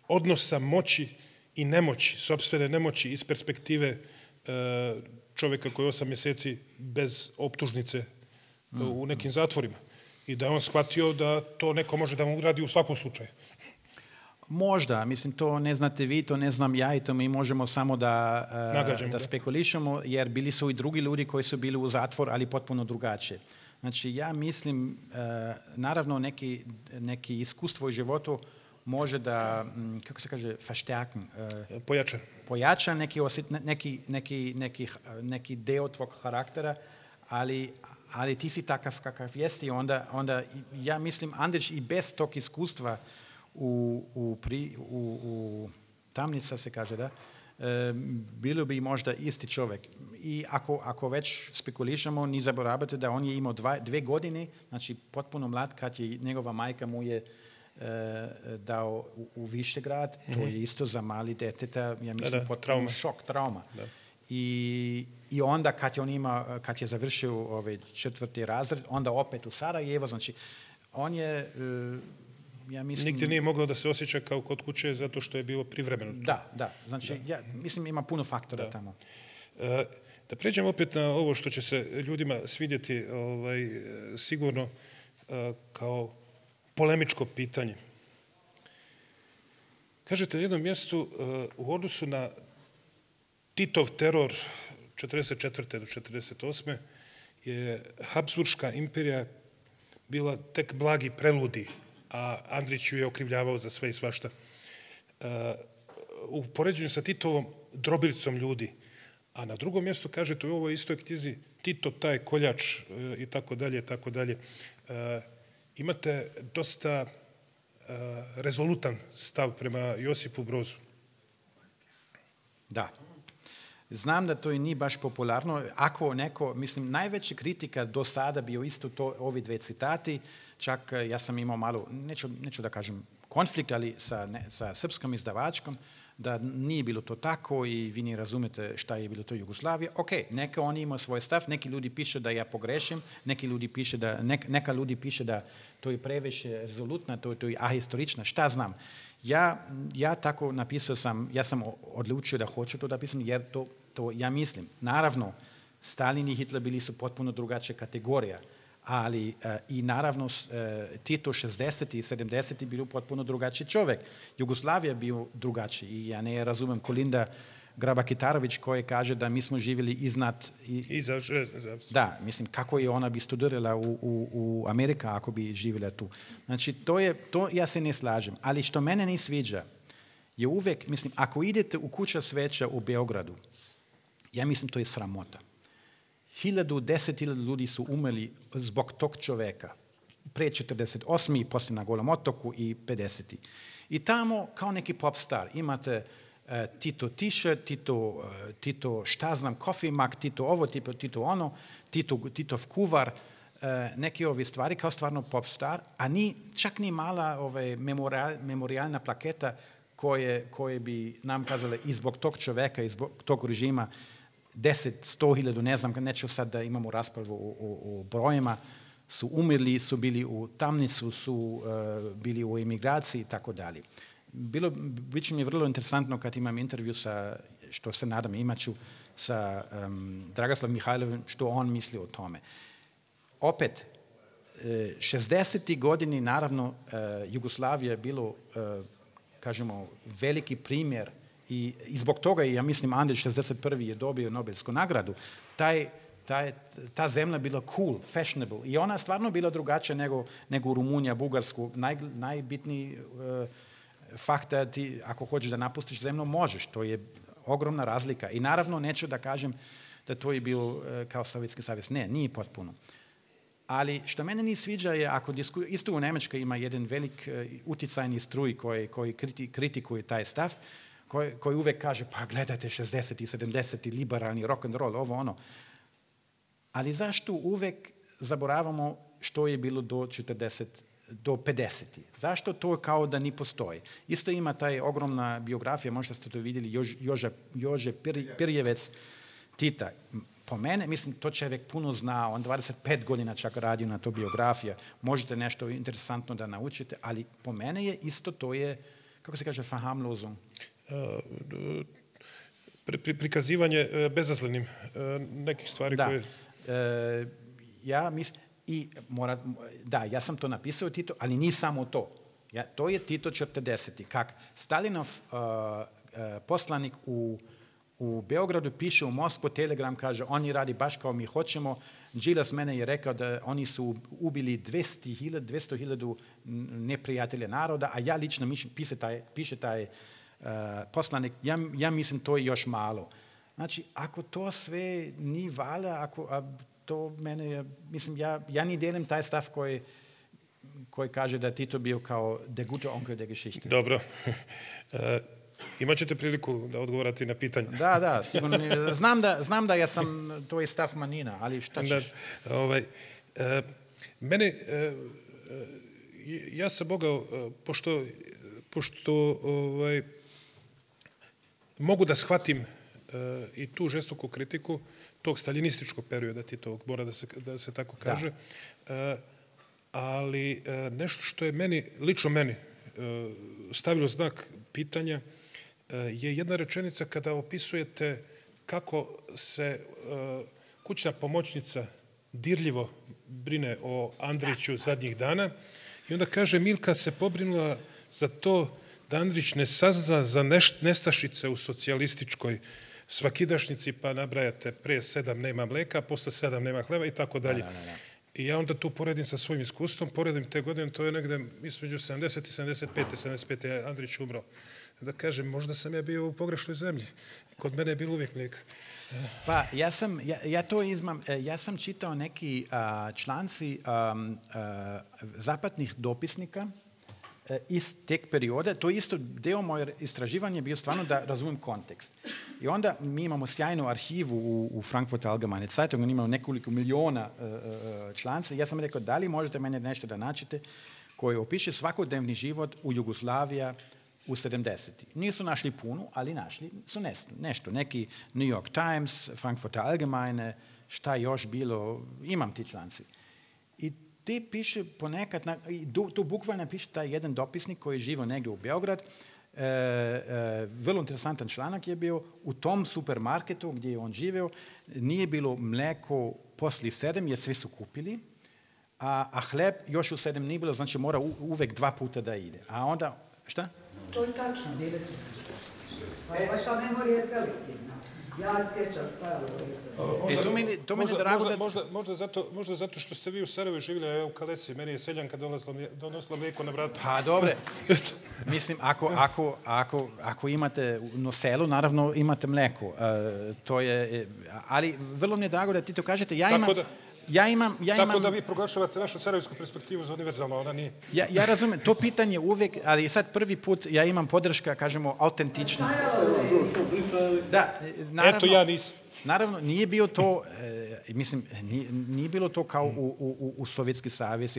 odnosa moći i nemoći, sopstvene nemoći iz perspektive čovjeka koji 8 mjeseci bez optužnice u nekim zatvorima i da je on shvatio da to neko može da mu uradi u svakom slučaju. Možda, mislim, to ne znate vi, to ne znam ja i to mi možemo samo da spekulišemo, jer bili su i drugi ljudi koji su bili u zatvor, ali potpuno drugačije. Znači, ja mislim, naravno, neki iskustvo u životu može da, kako se kaže, verstärken. Pojača neki deo tvog karaktera, ali ti si takav kakav jesi, onda ja mislim, Andrić i bez tog iskustva u tamnica se kaže, da, bilo bi možda isti čovjek. I ako već spekulišemo, ni zaboravite da on je imao 2 godine, znači potpuno mlad, kad je njegova majka mu je dao u Višegrad, to je isto za mali deteta, ja mislim, potpuno šok, trauma. Da. I onda kad je završio 4. razred, onda opet u Sarajevo, znači on je, ja mislim... Nigdje nije mogao da se osjeća kao kod kuće zato što je bilo privremeno. Da, znači ja mislim ima puno faktora tamo. Da pređemo opet na ovo što će se ljudima svidjeti sigurno kao polemičko pitanje. Kažete na jednom mjestu u odnosu na Titov teror 1944. do 1948. je Habsburška imperija bila tek blagi preludi, a Andrić ju je okrivljavao za sve i svašta. U poređenju sa Titovom drobilicom ljudi, a na drugom mjestu kažete u ovoj istoj knjizi Tito taj koljač i tako dalje. Imate dosta rezolutan stav prema Josipu Brozu. Da. Znam da to i nije baš popularno. Ako neko, mislim, najveća kritika do sada bio isto to, ovi 2 citati, čak ja sam imao malo, neću da kažem konflikt, ali sa srpskom izdavačkom, da nije bilo to tako i vi ne razumete šta je bilo to Jugoslavija. Ok, neka oni imaju svoj stav, neki ljudi piše da ja pogrešim, neka ljudi piše da to je previše rezolutno, to je ahistorično, šta znam. Ja tako napisao sam, ja sam odlučio da hoću to napisati, jer to ja mislim. Naravno, Stalin i Hitler bili su potpuno drugačija kategorija, ali i naravno Tito 60. i 70. bio potpuno drugačiji čovjek. Jugoslavija bio drugačiji i ja ne razumem Kolinda Graba-Kitarović koji kaže da mi smo živjeli iznad... Iza železne zavese. Da, mislim, kako je ona bi studirala u Amerika ako bi živjela tu. Znači, to ja se ne slažem. Ali što mene ne sviđa je uvijek, mislim, ako idete u Kuća cvijeća u Beogradu, ja mislim to je sramota. 10.000 ljudi su umrli zbog tog čovjeka. Pre 48. i poslije na Golom otoku i 50. I tamo kao neki pop star imate Tito t-shirt, Tito šta znam, coffee mug, Tito ovo, Tito ono, Titov kuvar, neke ove stvari kao stvarno pop star, a čak ni mala memorialna plaketa koje bi nam kazale i zbog tog čovjeka, i zbog tog režima 10-100.000, ne znam, neću sad da imamo raspravu o brojima, su umrli, su bili u tamnicu, su bili u emigraciji i tako dalje. Bit će mi vrlo interesantno kad imam intervju sa, što se nadam imat ću, sa Dragoslavom Mihajlovim, što on misli o tome. Opet, 60. godini, naravno, Jugoslavija je bilo, kažemo, veliki primjer i zbog toga, ja mislim, Andrić 61. je dobio Nobelsku nagradu. Ta zemlja bila cool, fashionable i ona stvarno bila drugačija nego Rumunija, Bugarsku. Najbitniji fakt da ti, ako hoćeš da napustiš zemlju, možeš. To je ogromna razlika. I naravno, neću da kažem da to je bilo kao Sovjetski savez. Ne, nije potpuno. Ali što mene ne sviđa je, ako isto u Njemačkoj ima jedan velik uticajni struj koji kritikuje taj stav, koji uvijek kaže, pa gledajte 60. i 70. liberalni rock and roll, ovo ono. Ali zašto uvijek zaboravamo što je bilo do 50. Zašto to kao da ni postoji? Isto ima taj ogromna biografija, možda ste to vidjeli, Jože Pirjevec Tita. Po mene, mislim, to čovjek puno zna, on 25 godina čak radio na to biografija, možete nešto interesantno da naučite, ali po mene je isto to je, kako se kaže, verharmlosung. Prikazivanje bezazlenim nekih stvari koje... Ja mislim, ja sam to napisao Tito, ali nije samo to. To je Tito 40. Kak Stalinov poslanik u Beogradu piše u Moskvu, telegram kaže, oni radi baš kao mi hoćemo. Đilas mene je rekao da oni su ubili 200.000 neprijatelja naroda, a ja lično piše taj poslanik, ja mislim to je još malo. Znači, ako to sve ni valja, to mene je, mislim, ja ni delim taj stav koji kaže da Tito bio kao der gute Onkel der Geschichte. Dobro. Imat ćete priliku da odgovorate na pitanje. Da, sigurno. Znam da ja sam, to je stav manjina, ali šta ćeš? Mene, ja sam mogao, pošto mogu da shvatim i tu žestoku kritiku tog staljinističkog perioda Titovog, mora da se tako kaže, ali nešto što je lično meni stavilo znak pitanja je jedna rečenica kada opisujete kako se kućna pomoćnica dirljivo brine o Andriću zadnjih dana i onda kaže Milka se pobrinula za to da Andrić ne sazna za nestašice u socijalističkoj svakidašnici, pa nabrajate pre 7 nema mleka, posle 7 nema hleba i tako dalje. I ja onda tu poredim sa svojim iskustvom, poredim te godine, to je negde između 70 i 75. je Andrić umro. Da kažem, možda sam ja bio u pogrešnoj zemlji. Kod mene je bilo uvijek mlijeka. Pa, ja sam čitao neki članci zapadnih dopisnika iz teg perioda. To je isto deo moje istraživanja bio stvarno da razumijem kontekst. I onda mi imamo sjajnu arhivu u Frankfurter Allgemeine Zeitung, imamo nekoliko miliona članca. Ja sam rekao, da li možete mene nešto da naćete koji opiše svakodnevni život u Jugoslaviji u 70. Nisu našli puno, ali našli su nešto. Neki New York Times, Frankfurter Allgemeine, šta još bilo, imam ti članci. I ti piše ponekad, tu bukvalno piše taj jedan dopisnik koji je živio negdje u Beograd, vrlo interesantan članak je bio, u tom supermarketu gdje je on živio, nije bilo mlijeko poslije 7 jer svi su kupili, a hleb još u 7 nije bilo, znači mora uvijek 2 puta da ide. A onda, šta? To je tačno, bile su. Vaša memorija je selektivna. Ja sjećam stajalo. To mi je drago da... Možda zato što ste vi u Sarajevu živjeli, a ja u Kalesi, meni je seljanka donosila mlijeko na vrata. Pa dobre, mislim, ako imate na selu, naravno imate mlijeko. To je, ali vrlo mi je drago da ti to kažete. Tako da vi proglašavate našu sarajevsku perspektivu za univerzalno, ona nije. Ja razumijem, to pitanje uvijek, ali sad prvi put ja imam podrška, kažemo, autentično. Da, naravno, eto, ja nisam. Naravno, nije bio to, mislim, nije bilo to kao u Sovjetski savez,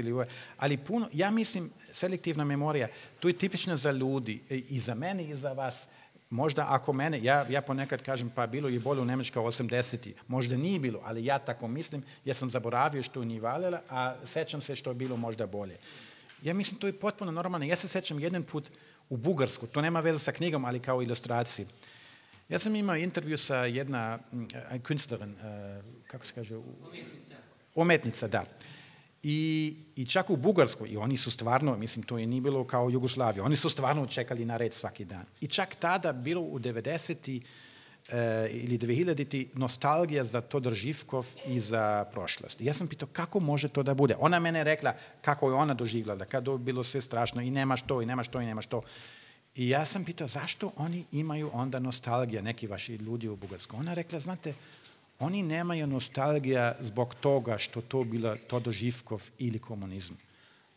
ali puno, ja mislim, selektivna memorija, to je tipično za ljudi, i za mene i za vas. Možda ako mene, ja ponekad kažem pa bilo je bolje u Njemačka 80-ih, možda nije bilo, ali ja tako mislim, ja sam zaboravio što nije valjalo, a sećam se što je bilo možda bolje. Ja mislim to je potpuno normalno. Ja se sećam jedan put u Bugarsku, to nema veze sa knjigom, ali kao ilustraciji. Ja sam imao intervju sa jedna kunstnerin, kako se kaže? Umetnica, da. I čak u Bugarskoj, i oni su stvarno, mislim, to je nije bilo kao Jugoslavija, oni su stvarno čekali na red svaki dan. I čak tada bilo u 90. ili 2000. nostalgija za Todor Živkov i za prošlost. Ja sam pitao kako može to da bude. Ona mene rekla kako je ona doživljala, kada je bilo sve strašno i nemaš to, i nemaš to, i nemaš to. I ja sam pitao zašto oni imaju onda nostalgija, neki vaši ljudi u Bugarskoj. Ona rekla, znate, oni nemaju nostalgija zbog toga što to bila Todor Živkov ili komunizam.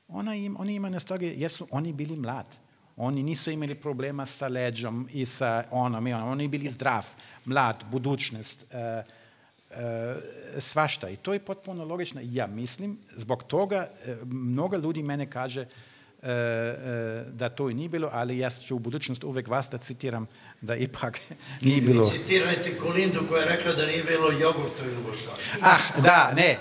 Oni imaju nostalgiju jer su oni bili mlad. Oni nisu imali problema sa leđom i sa onom i onom. Oni bili zdrav, mlad, budućnost, svašta. I to je potpuno logično. Ja mislim, zbog toga mnogo ljudi mene kaže da to i nije bilo, ali ja ću u budućnosti uvijek vas da citiram da ipak nije bilo. Citirajte Kolindu koja je rekla da nije bilo jogurta u Jugoslaviji. Da, ne.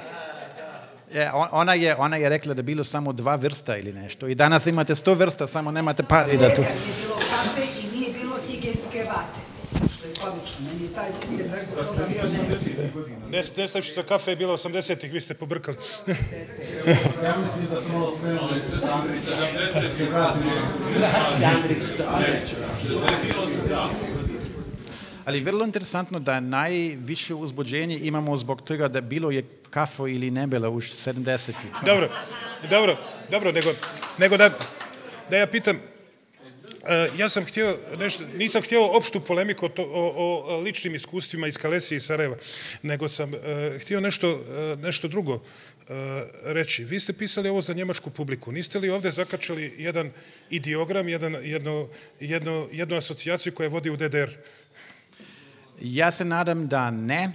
Ona je rekla da je bilo samo 2 vrsta ili nešto. I danas imate 100 vrsta, samo nemate pari da tu... Nije bilo kafe i nije bilo higijenske vate. Mislim, što je komično. Meni je taj sistem baš zbog toga bio nemisliv. Nestašica kafe je bila 80-ih, vi ste pobrkali. Ja mislim da smo spremali se Ali vrlo interesantno da najviše uzbuđenje imamo zbog toga da bilo je kafo ili ne bilo u 70-ih. Dobro, nego da ja pitam, ja sam htio nešto, nisam htio opštu polemiku o ličnim iskustvima iz Kalesije i Sarajeva, nego sam htio nešto drugo reći. Vi ste pisali ovo za njemačku publiku. Niste li ovdje zakačali jedan ideogram, jednu asocijaciju koja vodi u DDR? Ja se nadam da ne,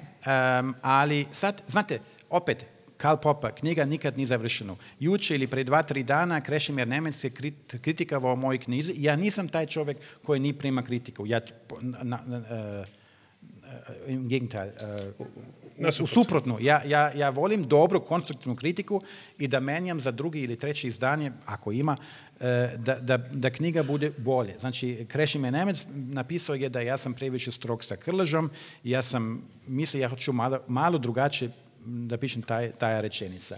ali sad, znate, opet, Karl Popper, knjiga nikad nije završena. Juče ili pred 2-3 dana Krešimir Nemec je kritikavao mojoj knjizi. Ja nisam taj čovjek koji nije prima kritiku. Im gegenteil. Suprotno. Ja volim dobru, konstruktivnu kritiku i da menjam za drugi ili treći izdanje, ako ima, da knjiga bude bolje. Znači, Krešimir Nemec napisao je da ja sam previše strog sa Krležom i ja sam mislio, ja hoću malo drugačije da pišem taj rečenica.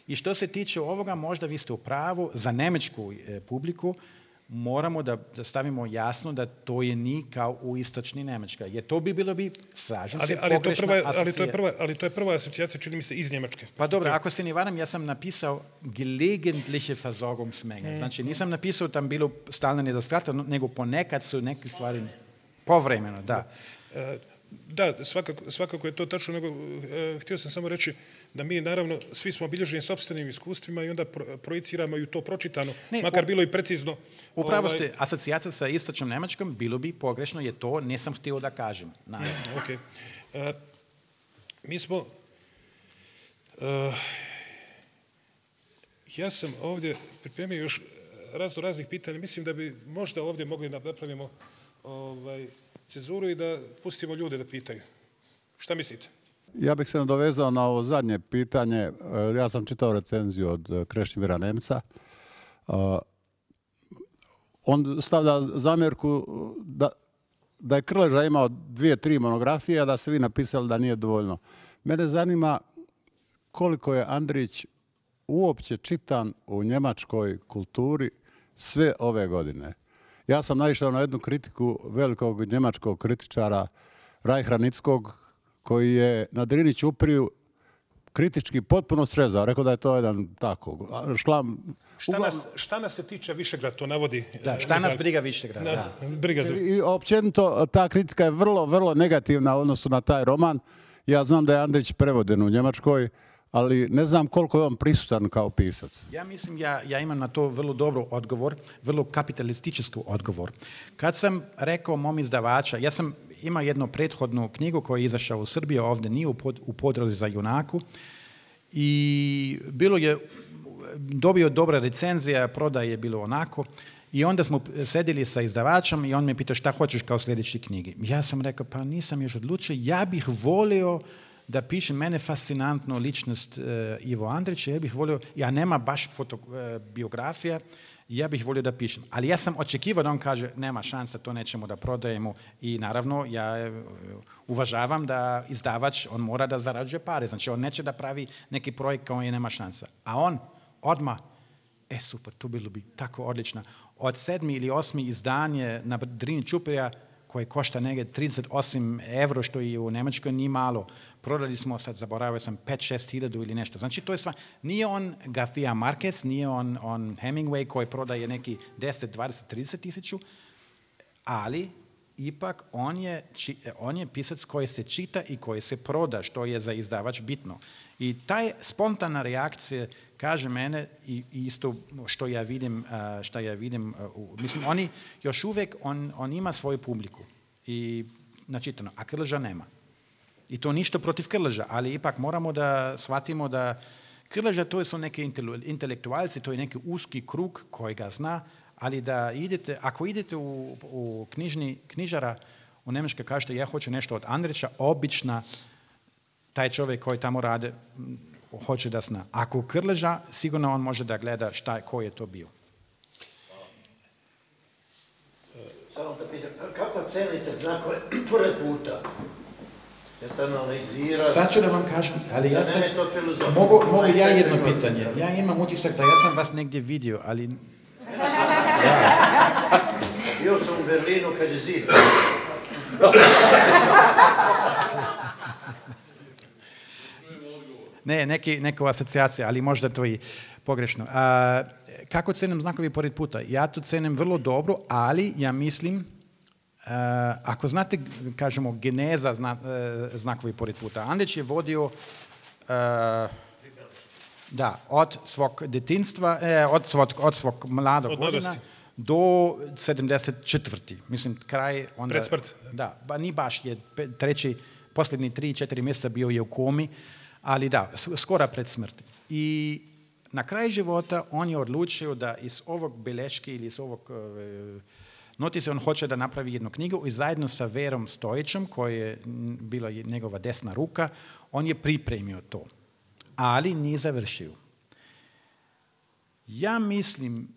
I što se tiče ovoga, možda vi ste u pravu, za njemačku publiku moramo da stavimo jasno da to je ni kao u istočni Njemačka. Jer to bi bilo slažem se, pogrešna asocijacija. Ali to je prva asocijacija, čini mi se, iz Njemačke. Pa dobro, ako se ne varam, ja sam napisao gelegentliche Versorgungsmenge. Znači, nisam napisao tam bilo stalno nedostatak, nego ponekad su neke stvari povremeno, da. Da, svakako je to tačno, nego htio sam samo reći da mi naravno svi smo obilježeni sopstvenim iskustvima i onda projiciramo i to pročitano, makar bilo i precizno. Upravo ste, asocijacija sa istočnom Njemačkom bilo bi pogrešno, jer to nisam htio da kažem. Ok. Mi smo... Ja sam ovdje pripremio još raznih pitanja. Mislim da bi možda ovdje mogli napravimo cenzuru i da pustimo ljude da pitaju. Šta mislite? Ja bih se nadovezao na ovo zadnje pitanje. Ja sam čitao recenziju od Krešimira Nemca. on stavlja zamjerku da je Krleža imao 2-3 monografije, a da ste vi napisali da nije dovoljno. Mene zanima koliko je Andrić uopće čitan u njemačkoj kulturi sve ove godine. Ja sam naišao na jednu kritiku velikog njemačkog kritičara Reicha Nickog, koji je na Drini Ćupriju kritički potpuno srezao. Rekao da je to jedan tako šlam. Šta nas se tiče Višegrad, to navodi... Da, šta nas briga Višegrad, da. Briga za... I općenito ta kritika je vrlo, vrlo negativna u odnosu na taj roman. Ja znam da je Andrić prevoden u Njemačkoj, ali ne znam koliko je on prisutan kao pisac. Ja mislim, ja imam na to vrlo dobro odgovor, vrlo kapitalistički odgovor. Kad sam rekao mom izdavača, ja sam imao jednu prethodnu knjigu koja je izašla u Srbiji, ovdje nije u Podrozi za junaku, i bilo je, dobio dobra recenzija, prodaje je bilo onako, i onda smo sedili sa izdavačem i on me pitao šta hoćeš kao sljedeći knjigi. Ja sam rekao, pa nisam još odlučio, ja bih volio da pišem, mene fascinantno ličnost Ivo Andrića, ja bih volio, ja nema baš biografija, ja bih volio da pišem. Ali ja sam očekivao da on kaže, nema šansa, to nećemo da prodajemo, i naravno ja uvažavam da izdavač, on mora da zarađuje pare, znači on neće da pravi neki projekt kao je nema šansa. A on odmah, super, to bilo bi tako odlično. Od 7. ili 8. izdanje na Drini Ćuprija, koje košta negdje 38 euro, što je u Njemačkoj nije malo. Prodali smo, sad zaboravio sam, 5-6 hiljadu ili nešto. Znači, to je stvar. Nije on Garcia Marquez, nije on Hemingway koji prodaje neki 10, 20, 30 tisuću, ali ipak on je pisac koji se čita i koji se proda, što je za izdavač bitno. I taj spontana reakcija kaže mene i isto što ja vidim, mislim, oni još uvijek, on ima svoju publiku i načitano, a Krleža nema. I to ništa protiv Krleža, ali ipak moramo da shvatimo da Krleža to su neki intelektualci, to je neki uski krug koji ga zna, ali da idete, ako idete u knjižara u Njemačkoj, kažete ja hoću nešto od Andrića, obično taj čovjek koji tamo rade hoće da zna. Ako Krleža, sigurno on može da gleda ko je to bio. Samo da pitam, kako cenite znakove pored puta? Jeste analizirali? Sad ću da vam kažem, ali ja sam... Mogu ja jedno pitanje. Ja imam utisak da ja sam vas negdje vidio, ali... Bio sam u Berlinu kad je zid. Ne, neka asocijacija, ali možda to i pogrešno. Kako cenim znakovi pored puta? Ja to cenim vrlo dobro, ali ja mislim, ako znate, kažemo, geneza znakovi pored puta. Andrić je vodio od svog detinstva, od svog mladog godina do 74. Mislim, kraj... Pred smrt. Da, ni baš je posljednji 3-4 mjeseca bio je u komi, ali da, skoro pred smrti. I na kraju života on je odlučio da iz ovog beleške ili iz ovog notise on hoće da napravi jednu knjigu i zajedno sa Verom Stojićem, koji je bila njegova desna ruka, on je pripremio to. Ali nije završio. Ja mislim,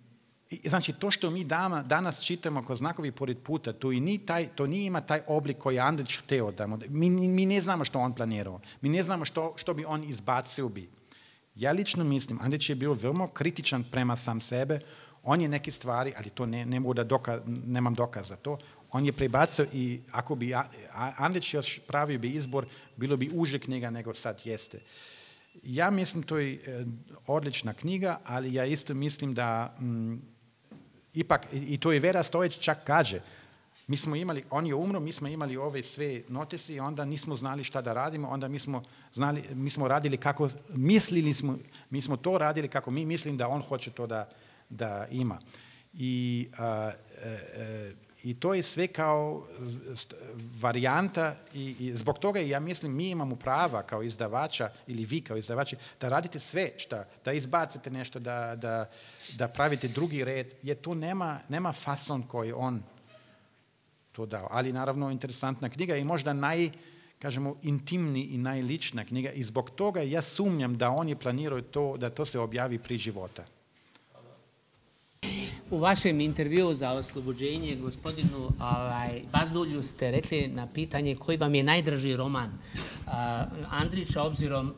znači to što mi danas čitamo kao znakovi pored puta, to nije ima taj oblik koji je Andrić hteo. Mi ne znamo što on planirao. Mi ne znamo što bi on izbacio bi. Ja lično mislim, Andrić je bio veoma kritičan prema sam sebe. On je neke stvari, ali to nemam dokaz za to, on je prebacio i ako bi Andrić još pravio bi izbor, bilo bi uže knjiga nego sad jeste. Ja mislim to je odlična knjiga, ali ja isto mislim da ipak, i to je Vera Stojić čak kaže, mi smo imali, on je umro, mi smo imali ove sve notise i onda nismo znali šta da radimo, onda mi smo radili kako, mi smo to radili kako mi mislim da on hoće to da ima. I to je sve kao varijanta i zbog toga ja mislim mi imamo prava kao izdavača ili vi kao izdavači da radite sve da izbacite nešto, da pravite drugi red, jer tu nema fason koji on to dao. Ali naravno interesantna knjiga i možda kažemo, intimni i najlična knjiga i zbog toga ja sumnjam da on je planirao to, da to se objavi pri života. U vašem intervjuu za oslobođenje gospodinu Bazdulju ste rekli na pitanje koji vam je najdraži roman Andrića,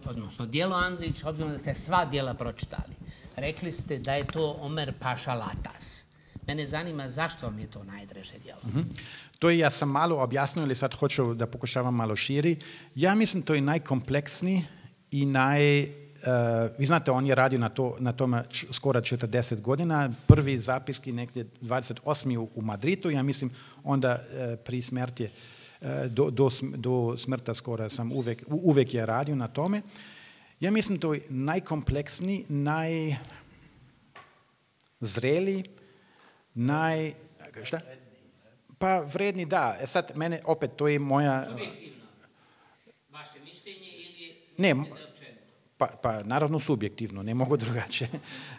odnosno djelo Andrića, obzirom da ste sva djela pročitali. Rekli ste da je to Omer Paša Latas. Mene zanima zašto vam je to najdraže djelo. To ja sam malo objasnio, ali sad hoću da pokušavam malo širi. Ja mislim to je najkompleksniji i vi znate, on je radio na tome skoro 40 godina. Prvi zapiski negdje 28. u Madridu, ja mislim onda pri smrti, do smrta skoro sam uvijek je radio na tome. Ja mislim to je najkompleksniji, najzreliji, šta? Pa vredni, da. Sad mene, opet, to je moja... Subjektivno. Vaše mišljenje ili... Ne, pa naravno subjektivno, ne mogu drugačije.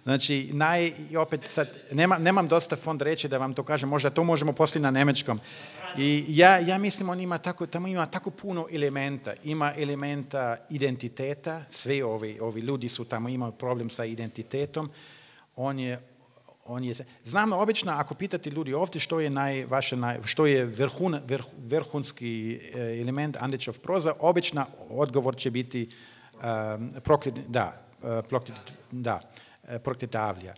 Znači, opet sad, nemam dosta fond reći da vam to kažem, možda to možemo poslije na nemečkom. I ja mislim, tamo ima tako puno elementa. Ima elementa identiteta, sve ovi ljudi su tamo, imaju problem sa identitetom. Znam, obično, ako pitate ljudi ovdje što je vrhunski element Andrićov proza, obično odgovor će biti Prokleta Avlija.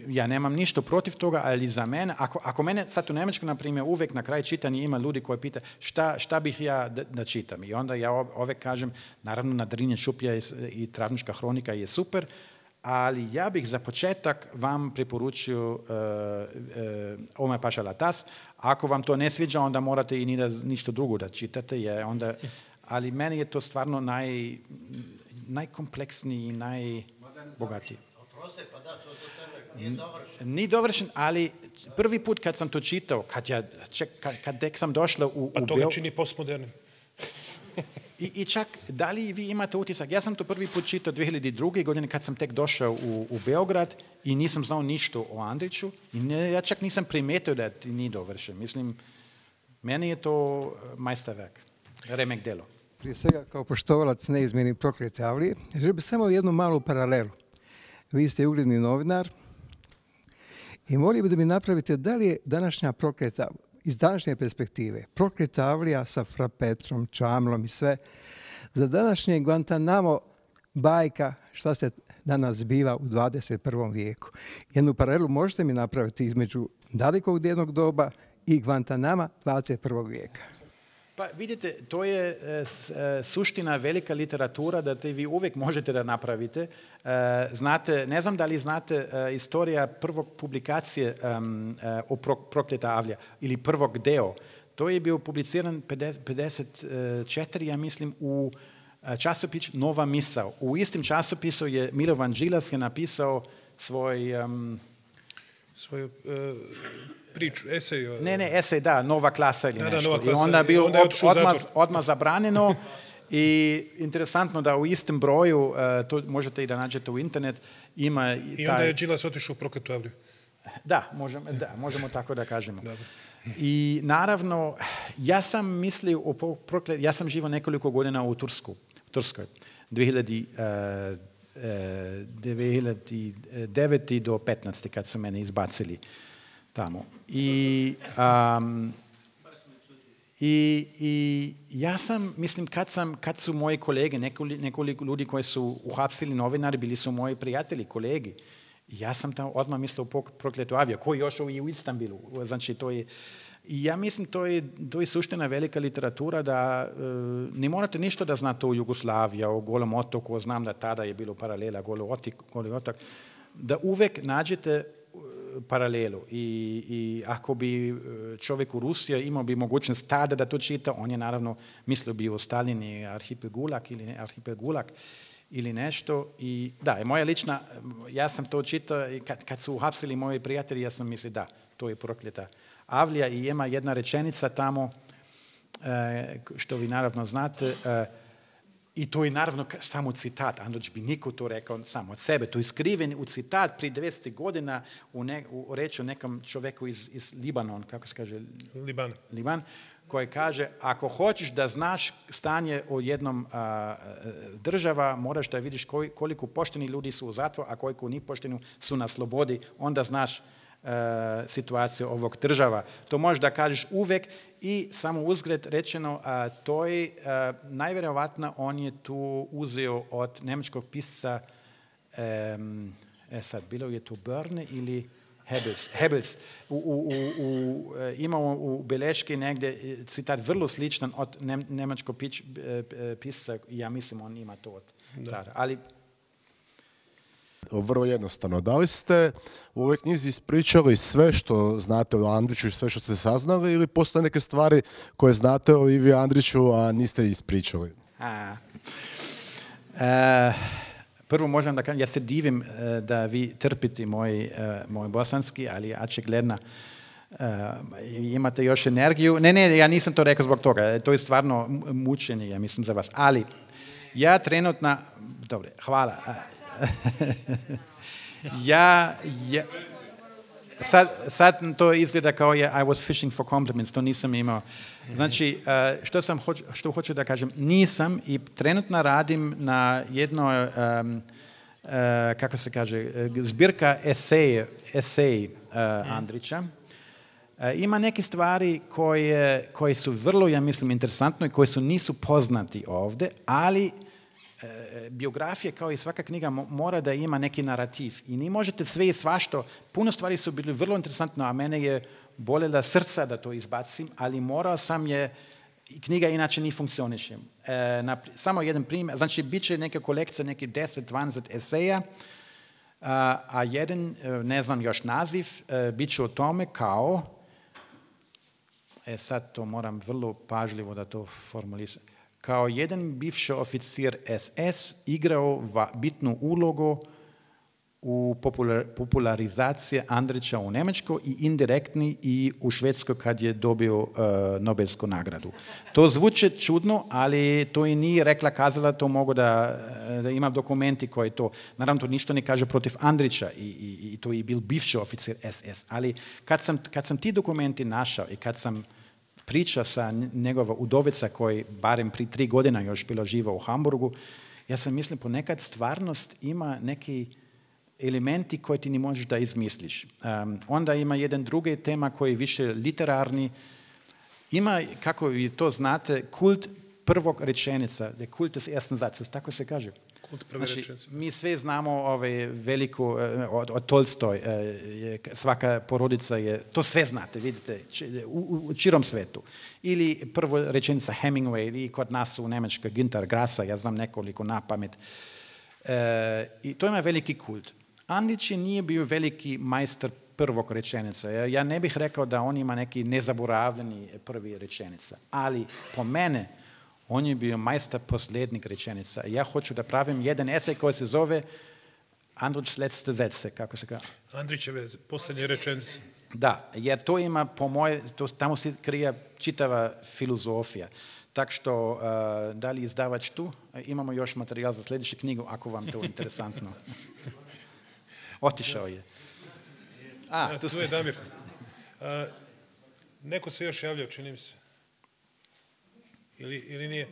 Ja nemam ništa protiv toga, ali za mene, ako mene sad u Njemačkoj, na primjer, uvijek na kraju čitanja ima ljudi koji pita šta bih ja da čitam. I onda ja uvijek kažem, naravno, Nadrinje šuplja i Travnička hronika je super, ali ja bih za početak vam preporučio Omer Paša Latas. Ako vam to ne sviđa, onda morate i ništa drugo da čitate, ali meni je to stvarno najkompleksniji i najbogatiji. Oprosti, pa da, to nije dovršen. Nije dovršen, ali prvi put kad sam to čitao, kad tek sam došla u Pa to ga čini postmodernim. I čak, da li vi imate utisak, ja sam to prvi put čitao 2002. godine kad sam tek došao u Beograd i nisam znao ništa o Andriću i ja čak nisam primetio da nije dovršen. Mislim, meni je to majsterverk, remek delo. Prije svega, kao poštovalac neizmjernih Proklete Avlije, želim bi samo jednu malu paralelu. Vi ste ugledni novinar i molio bi da mi napravite da li je današnja Prokleta, iz današnje perspektive, Prokleta Avlija sa Fra Petrom, Čamlom i sve, za današnje Guantanamo bajka šta se danas zbiva u 21. vijeku. Jednu paralelu možete mi napraviti između dalekog jednog doba i Guantanama 21. vijeka. Pa vidite, to je suština velika literatura da vi uvijek možete da napravite. Znate, ne znam da li znate istorija prvog publikacije o Prokleta Avlija ili prvog deo. To je bio publiciran 54, ja mislim, u časopis Nova misao. U istim časopisu je Milovan Đilas je napisao svoju priču, esej. Ne, esej, da, Nova klasa ili nešto. Nova klasa. I onda je bio odmah zabranjeno i interesantno da u istom broju, to možete i da nađete u internet, ima... I onda je Đilas otišao u Prokletu Avliju. Da, možemo tako da kažemo. I naravno, ja sam mislio o Prokletu, ja sam živio nekoliko godina u Turskoj, 2009. do 15. kad su mene izbacili tamo. I ja sam, mislim, kad su moji kolege, nekoliko ljudi koji su uhapsili novinari, bili su moji prijatelji, kolegi. Ja sam tamo odmah mislio o Prokletu Avliju, koji još i u Istanbulu. Znači, to je... I ja mislim, to je suština velika literatura da ne morate ništa da znate o Jugoslaviji, o Golom otoku, znam da tada je bilo paralela Goli otok, da uvijek nađete paralelu. I ako bi čovjek u Rusiji imao bi mogućnost tada da to čita, on je naravno mislio bi o Stalini, Arhipel Gulag ili nešto. I da, moja lična, ja sam to čitao i kad su uhapsili moji prijatelji, ja sam mislio da, to je Prokleta Avlija i ima jedna rečenica tamo, što vi naravno znate, i to je naravno samo citat, Andrić bi niko to rekao samo od sebe, to je skriven u citat prije 200 godina u reći o nekom čovjeku iz Libanon, kako se kaže? Liban. koji kaže ako hoćeš da znaš stanje u jednom država, moraš da vidiš koliko pošteni ljudi su u zatvoru, a koliko nipošteni su na slobodi, onda znaš situaciju ovog država. To možeš da kažeš uvek i samo uzgred rečeno, to je najvjerovatno on je tu uzeo od njemačkog pisca, sad bilo je to Börne ili Hebels. Imamo u beleški negdje citat vrlo sličan od njemačkog pisca, ja mislim on ima to od tada. Ali vrlo jednostavno. Da li ste u ovoj knjizi ispričali sve što znate o Andriću i sve što ste saznali ili postoje neke stvari koje znate o Ivi Andriću, a niste ispričali? Prvo možem da kažem, ja se divim da vi trpite moj bosanski, ali očigledno imate još energiju. Ne, ja nisam to rekao zbog toga. To je stvarno mučenje, ja mislim, za vas. Ali ja trenutno... Dobre, hvala. Sad to izgleda kao I was fishing for compliments, to nisam imao. Znači, što hoću da kažem, nisam i trenutno radim na jednoj, kako se kaže, zbirka esej Andrića. Ima neke stvari koje su vrlo, ja mislim, interesantne i koje nisu poznati ovdje, ali biografija kao i svaka knjiga mora da ima neki narativ i ni možete sve i svašto. Puno stvari su bili vrlo interesantno, a mene je bolela srca da to izbacim, ali morao sam knjiga inače ni funkcioniše. Samo jedan primjer, znači bit će neka kolekcija, neki 10-20 eseja, a jedan, ne znam još naziv, bit će o tome kao, sad to moram vrlo pažljivo da to formuliram, kao jedan bivši oficir SS igrao bitnu ulogu u popularizaciji Andrića u Njemačkoj i indirektni i u Švedskoj kad je dobio Nobelsku nagradu. To zvuči čudno, ali to i nije rekla kazala, to mogu da imam dokumenti koji to, naravno to ništa ne kaže protiv Andrića i to je bil bivši oficir SS, ali kad sam ti dokumenti našao i kad sam priča sa njegova udovica koji barem pri 3 godina još bila živa u Hamburgu, ja sam mislim ponekad stvarnost ima neki elementi koje ti ne možeš da izmisliš. Onda ima jedan drugi tema koji je više literarni. Ima, kako vi to znate, kult prvog rečenica, der Kult des ersten Satzes, tako se kaže. Kult prve rečenice. Mi sve znamo veliku, od Tolstoj, svaka porodica je, to sve znate, vidite, u čirom svetu. Ili prvo rečenica Hemingway, ili kod nas u Njemačkoj Günter Grasa, ja znam nekoliko na pamet. I to ima veliki kult. Andrić nije bio veliki majstor prvog rečenica. Ja ne bih rekao da on ima neki nezaboravljeni prvi rečenica, ali po mene on je bio majstor posljednjeg rečenica. Ja hoću da pravim jedan esej koji se zove Andrić's letzte Sätze, kako se kaže? Andrićeve posljednje rečenice. Da, jer to ima, po moje, tamo se krije čitava filozofija. Tak što, da li izdavač tu? Imamo još materijal za sljedeću knjigu, ako vam to interesantno. Otišao je. Tu je Damir. Neko se još javljao, čini mi se. Ili nije?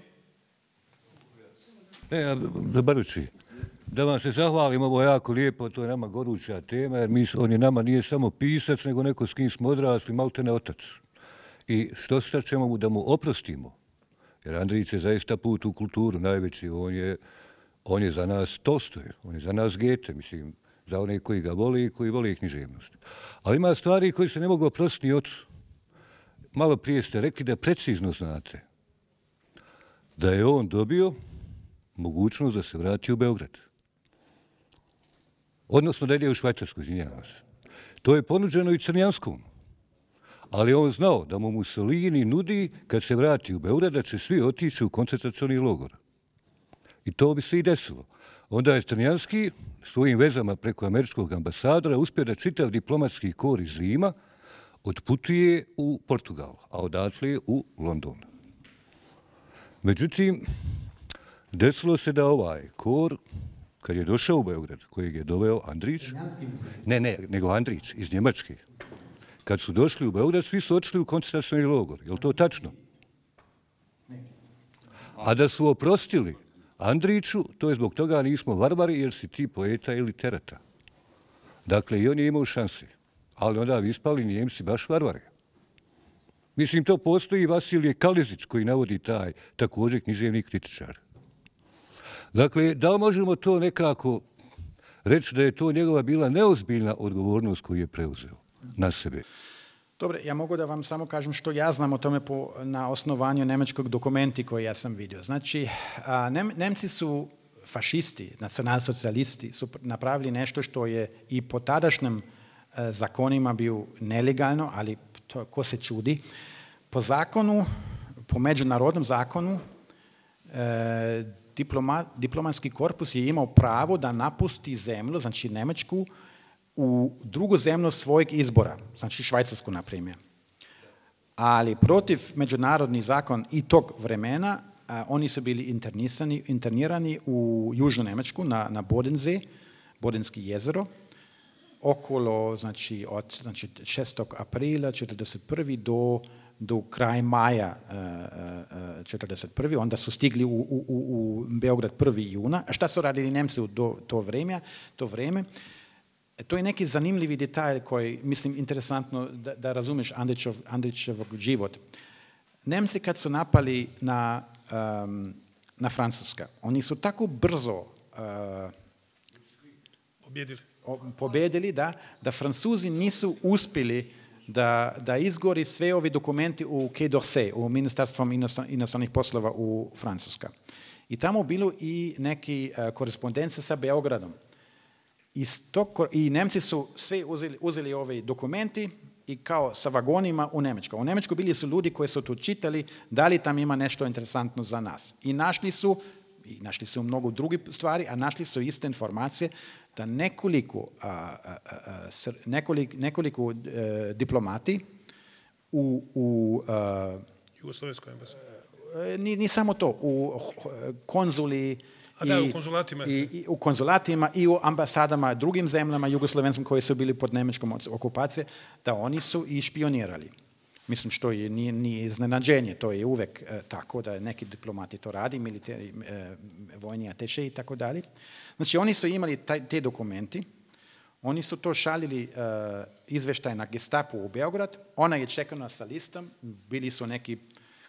Dobarući, da vam se zahvalim, ovo je jako lijepo, to je nama goruća tema, jer on je nama nije samo pisac, nego neko s kim smo odrasli, maltene otac. I što sad ćemo da mu oprostimo? Jer Andrić je zaista put u kulturu najveći, on je za nas Tolstoj, on je za nas Goethe, mislim, za one koji ga voli i koji voli književnost. Ali ima stvari koje se ne mogu oprostiti ni ocu. Malo prije ste rekli da precizno znate da je on dobio mogućnost da se vrati u Beograd. Odnosno da ide u Švajcarsku, izvinjavam se. To je ponuđeno i Crnjanskom. Ali on znao da mu Mussolini nudi, kad se vrati u Beograd, da će svi otići u koncentracioni logor. I to bi se i desilo. Onda je Crnjanski svojim vezama preko američkog ambasadora uspio da čitav diplomatski kor iz Rima otputuje u Portugal, a odatle u London. Međutim, desilo se da ovaj kor, kad je došao u Beograd, kojeg je doveo Andrić, nego Andrić iz Njemačke, kad su došli u Beograd, svi su otišli u koncentracioni logor. Je li to tačno? A da su oprostili Andriću, to je zbog toga nismo varvari jer si ti poeta ili terata. Dakle, i on je imao šanse. Ali onda vi ispali Njemci baš varvari. Mislim, to postoji Vasilije Kalezić koji navodi taj također književni kritičar. Dakle, da li možemo to nekako reći da je to njegova bila neozbiljna odgovornost koju je preuzeo na sebe? Dobro, ja mogu da vam samo kažem što ja znam o tome na osnovanju njemačkog dokumenti koji ja sam vidio. Znači, Nemci su fašisti, nacionalsocijalisti, su napravili nešto što je i po tadašnjim zakonima bio nelegalno, ali to, ko se čudi. Po zakonu, po međunarodnom zakonu, diplomatski korpus je imao pravo da napusti zemlju, znači Njemačku, u drugu zemlju svojeg izbora, znači Švajcarsku, na primjer. Ali protiv međunarodni zakon i tog vremena, oni su bili internirani u Južnu Njemačku, na Bodensee, Bodenski jezero, okolo, znači, od 6. aprila 1941. do kraja maja 1941. Onda su stigli u Beograd 1. juna. A šta su radili Nemci u to vrijeme? To je neki zanimljivi detalj koji, mislim, interesantno da razumiješ Andrićevog život. Nemci kad su napali na Francuska, oni su tako brzo pobjedili da Francuzi nisu uspjeli da izgori sve ovi dokumenti u Quai d'Orsay, u Ministarstvom inostranih poslova u Francuska. I tamo bilo i neki korespondencija sa Beogradom. I Nemci su sve uzeli ove dokumenti i kao sa vagonima u Njemačku. U Njemačku bili su ljudi koji su to čitali, da li tam ima nešto interesantno za nas. I našli su mnogo drugih stvari, a našli su iste informacije da nekoliko diplomati u Jugoslovenskoj ambasadi. Ni samo to, u konzuli u konzulatima i u ambasadama drugim zemljama jugoslovenskim koji su bili pod njemačkom okupacijom, da oni su i špionirali. Mislim, što nije iznenađenje, to je uvek tako da neki diplomati to radi, militari, vojni ateše i tako dalje. Znači, oni su imali te dokumenti, oni su to šalili izveštaj na Gestapu u Beograd, ona je čekana sa listom, bili su neki,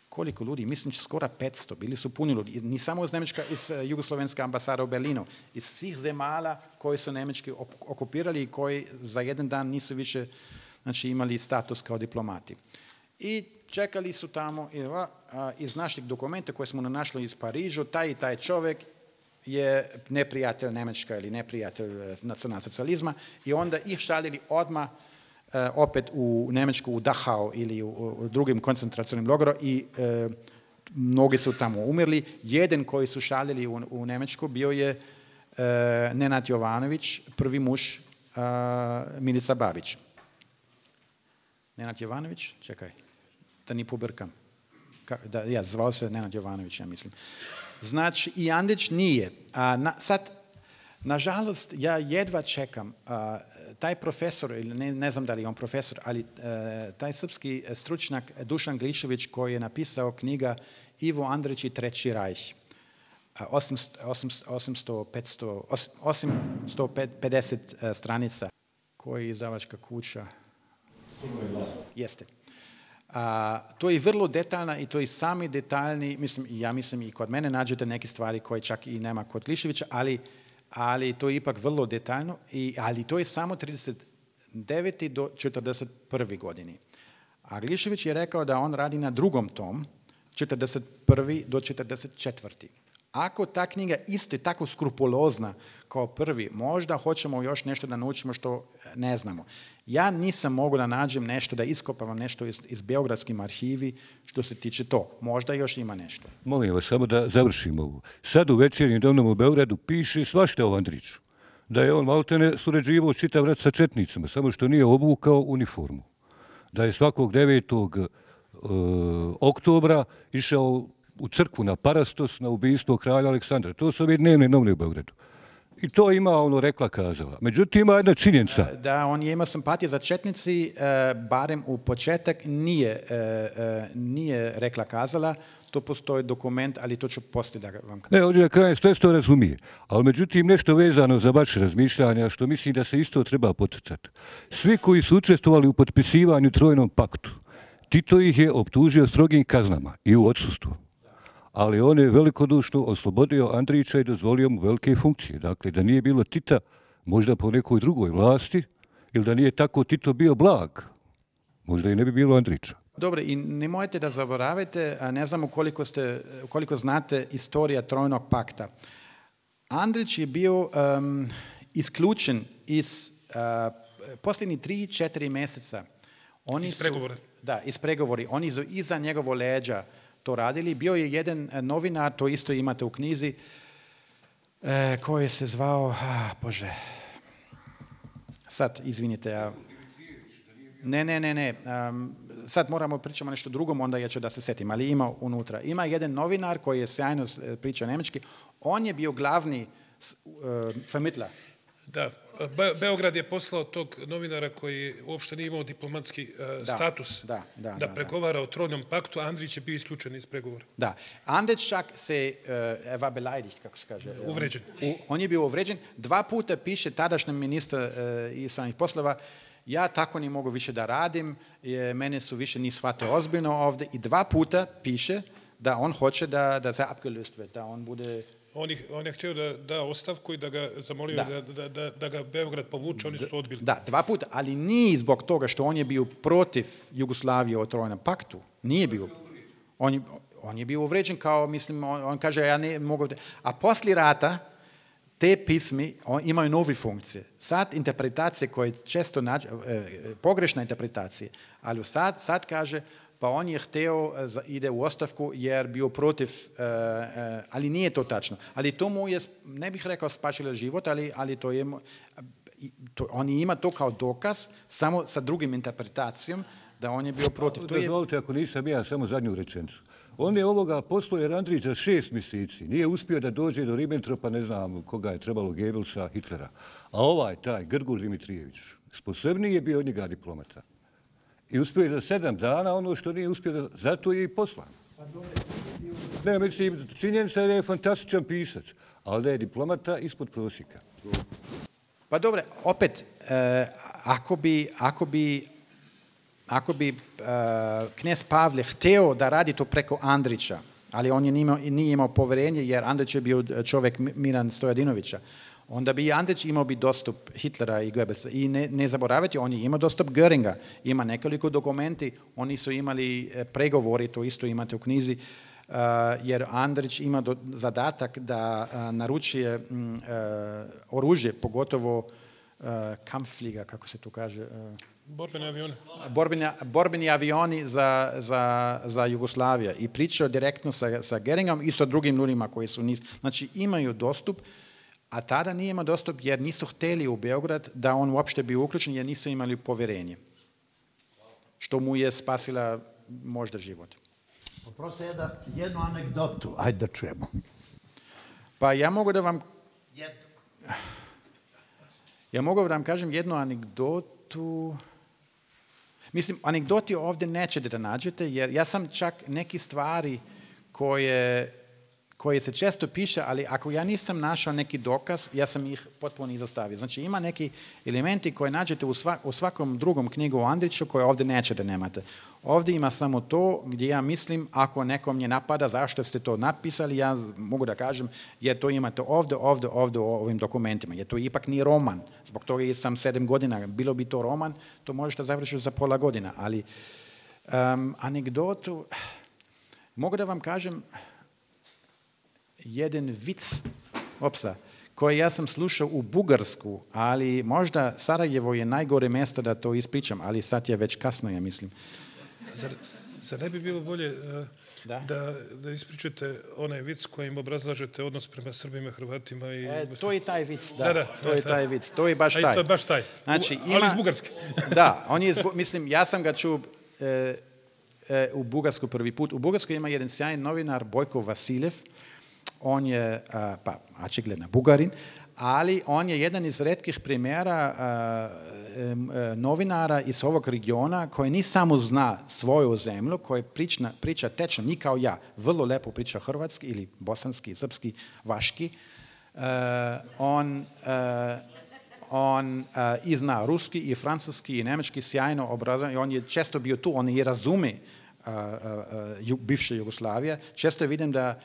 koliko ljudi, mislim skoro 500, bili su puni ljudi, ni samo iz Jugoslovenske ambasade u Berlinu, iz svih zemalja koji su Njemački okupirali i koji za jedan dan nisu više, znači, imali status kao diplomati. I čekali su tamo iz naših dokumenta koje smo našli iz Parižu, taj i taj čovjek je neprijatelj Njemačka ili neprijatelj nacionalsocijalizma i onda ih šaljili odmah opet u Njemačku, u Dachau ili u drugim koncentracionim logoru i mnogi su tamo umrli. Jedan koji su šaljili u Njemačku bio je Nenad Jovanović, prvi muž Milica Babić. Nenad Jovanović, čekaj, da ni pobrkam. Zvao se Nenad Jovanović, ja mislim. Znači, i Andrić nije. Sad, nažalost, ja jedva čekam. Taj profesor, ili ne znam da li je on profesor, ali taj srpski stručnjak Dušan Glišević koji je napisao knjiga Ivo Andrić i Treći rajh. 850 stranica koji je izdavačka kuća. Jeste. To je vrlo detaljna i to je sami detaljni, ja mislim i kod mene nađete neke stvari koje čak i nema kod Gliševića, ali to je ipak vrlo detaljno, ali to je samo 39. do 41. godini. A Glišević je rekao da on radi na drugom tom, 41. do 44. Ako ta knjiga iste tako skrupulozna kao prvi, možda hoćemo još nešto da naučimo što ne znamo. Ja nisam mogu da nađem nešto, da iskopavam nešto iz beogradskim arhivi što se tiče to. Možda još ima nešto. Molim vas, samo da završimo ovo. Sad u Večernjem dnevnom u Beogradu piše svašta o Andriću. Da je on maltene surađivao čitav rat sa četnicama, samo što nije obukao uniformu. Da je svakog 9. oktobra išao u crkvu na Parastos, na ubistvo kralja Aleksandra. To su ove dnevne novine u Beogradu. I to ima ono rekla kazala. Međutim, ima jedna činjenica. Da, on je imao simpatije za četnici, barem u početak nije rekla kazala. To postoji dokument, ali to ću poslije da vam kažem. Ne, ovdje na kraju sve to razumije. Ali međutim, nešto vezano za vaše razmišljanja, što mislim da se isto treba poticati. Svi koji su učestvovali u potpisivanju Trojnom paktu, Tito ih je optužio strogim kaznama i u odsustvu. Ali on je velikodušno oslobodio Andrića i dozvolio mu velike funkcije. Dakle, da nije bilo Tita, možda po nekoj drugoj vlasti, ili da nije tako Tito bio blag, možda i ne bi bilo Andrića. Dobro, i nemojte da zaboravite, ne znam koliko znate istorija Trojnog pakta. Andrić je bio isključen iz posljednjih 3-4 mjeseca. Iz pregovora. Da, iz pregovori. Oni su iza njegovo leđa to radili. Bio je jedan novinar, to isto imate u knjizi, koji se zvao, Bože, sad, izvinite, ja... Ne. Sad moramo pričamo nešto drugom, onda ja ću da se setim, ali ima unutra. Ima jedan novinar koji je sjajno priča njemački. On je bio glavni vermittler. Da, Beograd je poslao tog novinara koji uopšte nije imao diplomatski status da pregovara o Trojnom paktu, a Andrić je bio isključen iz pregovora. Da, Andrić čak se war beleidigt, kako se kaže. Uvređen. On je bio uvređen. 2 puta piše tadašnjem ministar stranih poslova, ja tako ne mogu više da radim, mene su više ni shvate ozbiljno ovdje, i 2 puta piše da on hoće da se abgelöst wird, da on bude... On je htio da da ostavku i da ga zamolio da ga Beograd povuče, oni su to odbili. Da, 2 puta, ali nije zbog toga što on je bio protiv Jugoslavije o Trojnom paktu. Nije bio. On je bio uvređen kao, mislim, on kaže, ja ne mogu... A poslije rata te pismi imaju nove funkcije. Sad interpretacije koje često pogrešna interpretacija, ali sad kaže, pa on je htio ide u ostavku jer bio protiv, ali nije to tačno. Ali to mu je, ne bih rekao spašilo život, ali to je, on ima to kao dokaz, samo sa drugim interpretacijom, da on je bio protiv. Dozvolite, ako nisam ja, samo zadnju rečenicu. On je ovoga poslao jer Andrić za 6 mjeseci nije uspio da dođe do Ribbentropa, ne znam koga je trebalo, Goebbelsa, Hitlera. A taj Grgur Dimitrijević, sposobniji je bio od njega diplomata. I uspio je za 7 dana ono što nije uspio, zato je i poslan. Ne, mislim, činjenica je da je fantastičan pisac, ali da je diplomata ispod prosjeka. Pa dobro, opet, ako bi knez Pavle htio da radi to preko Andrića, ali on nije imao povjerenje jer Andrić je bio čovjek Miran Stojadinovića, onda bi Andrić imao bi dostup Hitlera i Goebbelsa. I ne zaboravite, on je imao dostup Göringa. Ima nekoliko dokumenti, oni su imali pregovori, to isto imate u knjizi, jer Andrić ima zadatak da naručuje oružje, pogotovo Kampfflieger, kako se to kaže... Borbeni avioni. Borbeni avioni za Jugoslaviju. I pričao direktno sa Göringom i sa drugim ljudima koji su Znači imaju dostup, a tada nije imao dostup jer nisu htjeli u Beograd da on uopšte bio uključen jer nisu imali povjerenje. Što mu je spasila možda život. Oprosti jednu anegdotu, ajde da čujemo. Pa ja mogu da vam... Ja mogu da vam kažem jednu anegdotu... Mislim, anegdoti ovdje nećete da nađete, jer ja sam čak neki stvari koje se često piše, ali ako ja nisam našao neki dokaz, ja sam ih potpuno izostavio. Znači, ima neki elementi koje nađete u svakom drugom knjigu o Andriću koje ovdje nećete nemate. Ovdje ima samo to gdje ja mislim, ako nekom nje napada zašto ste to napisali, ja mogu da kažem, jer to imate ovdje u ovim dokumentima. Jer to ipak nije roman. Zbog toga sam 7 godina. Bilo bi to roman, to možete završiti za pola godina. Ali anegdotu, mogu da vam kažem, jedan vic koji ja sam slušao u Bugarsku, ali možda Sarajevo je najgore mjesto da to ispričam, ali sad je već kasno, ja mislim. Zar ne bi bilo bolje da ispričate onaj vic kojim obrazlažete odnos prema Srbima, Hrvatima i... To je taj vic, to je taj vic, to je baš taj. To je baš taj, znači, ali iz Bugarske. Da, mislim, ja sam ga čuo u Bugarsku prvi put. U Bugarskoj ima jedan sjajan novinar, Bojko Vasiljev, on je, pa, očigledno Bugarin, ali on je jedan iz retkih primjera novinara iz ovog regiona koji ni samo zna svoju zemlju, koji priča tečno, ni kao ja, vrlo lepo priča hrvatski ili bosanski, srpski, vaški. On i zna ruski i francuski i njemački sjajno obrazovan i on je često bio tu, on je razume bivše Jugoslavije. Često vidim da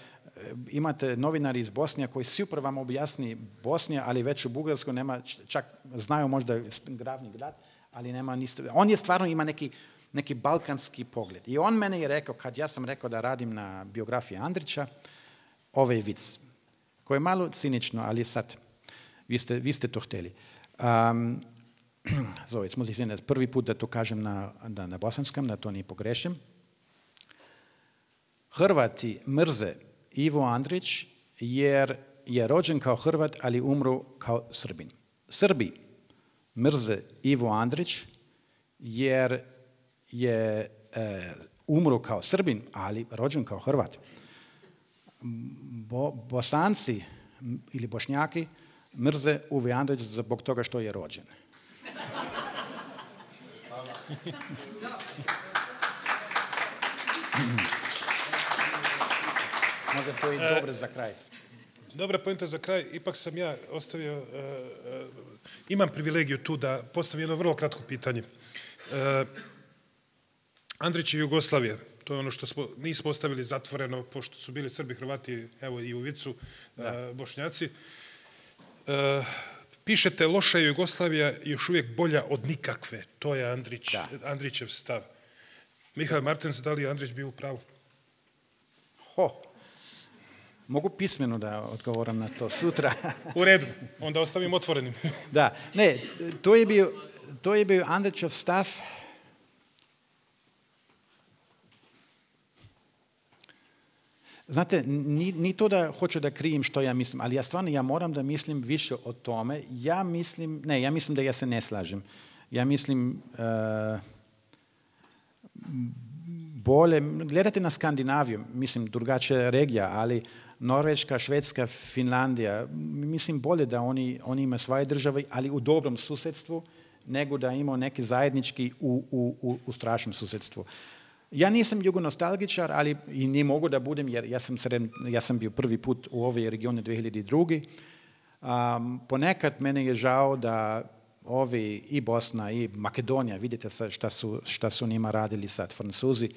imate novinari iz Bosnije koji super vam objasni Bosnija, ali već u Bugarskoj nema, čak znaju možda glavni grad, ali nema ništa. On je stvarno ima neki balkanski pogled. I on mene je rekao, kad ja sam rekao da radim na biografiji Andrića, ovaj vic, koji je malo cinično, ali sad, vi ste to htjeli. So, jetzt muss ich sehen, prvi put da to kažem na bosanskom, da to ne pogrešim. Hrvati mrze Ivo Andrić jer je rođen kao Hrvat, ali umro kao Srbin. Srbi mrze Ivo Andrić jer je umro kao Srbin, ali rođen kao Hrvat. Bosanci ili Bošnjaki mrze Uwe Andrić zbog toga što je rođen. Možda to je dobro za kraj. Dobra poenta za kraj. Ipak sam ja ostavio, imam privilegiju tu da postavim jedno vrlo kratko pitanje. Andrić i Jugoslavija, to je ono što nismo ostavili zatvoreno, pošto su bili Srbi, Hrvati, evo i u Vicu, Bošnjaci. Pišete, loša je Jugoslavija još uvijek bolja od nikakve. To je Andrićev stav. Mihael Martens, da li je Andrić bio u pravu? Mogu pismeno da odgovoram na to sutra. U redu, onda ostavim otvorenim. Da, ne, to je bio Andrićev stav. Znate, ni to da hoću da krijem što ja mislim, ali ja moram da mislim više o tome. Ja mislim da ja se ne slažem. Ja mislim bolje, gledate na Skandinaviju, mislim drugačija regija, ali Norveška, Švedska, Finlandija, mislim bolje da oni imaju svoje države, ali u dobrom susjedstvu, nego da imaju neki zajednički u strašnom susjedstvu. Ja nisam jugonostalgičar, ali i ne mogu da budem, jer ja sam bio prvi put u ovoj regioni 2002. Ponekad mene je žao da ovi i Bosna i Makedonija, vidite šta su njima radili sad Francuzi,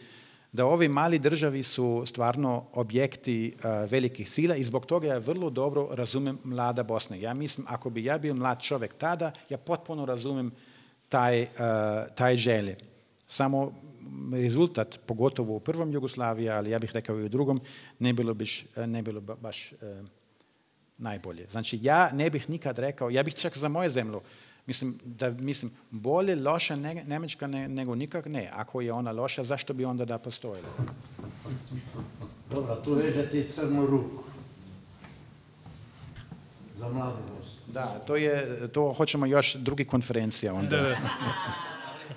da ovi mali državi su stvarno objekti velikih sila i zbog toga ja vrlo dobro razumem mlada Bosna. Ja mislim, ako bi ja bio mlad čovjek tada, ja potpuno razumem taj želje. Samo rezultat, pogotovo u prvom Jugoslaviji, ali ja bih rekao i u drugom, ne bilo baš najbolje. Znači, ja ne bih nikad rekao, ja bih čak za moju zemlju, mislim, bolje loša Njemačka nego nikak ne. Ako je ona loša, zašto bi onda da postojila? Dobro, tu vežete crnu ruku. Za mladu Bosnu. Da, to hoćemo još drugi konferencija onda. Ali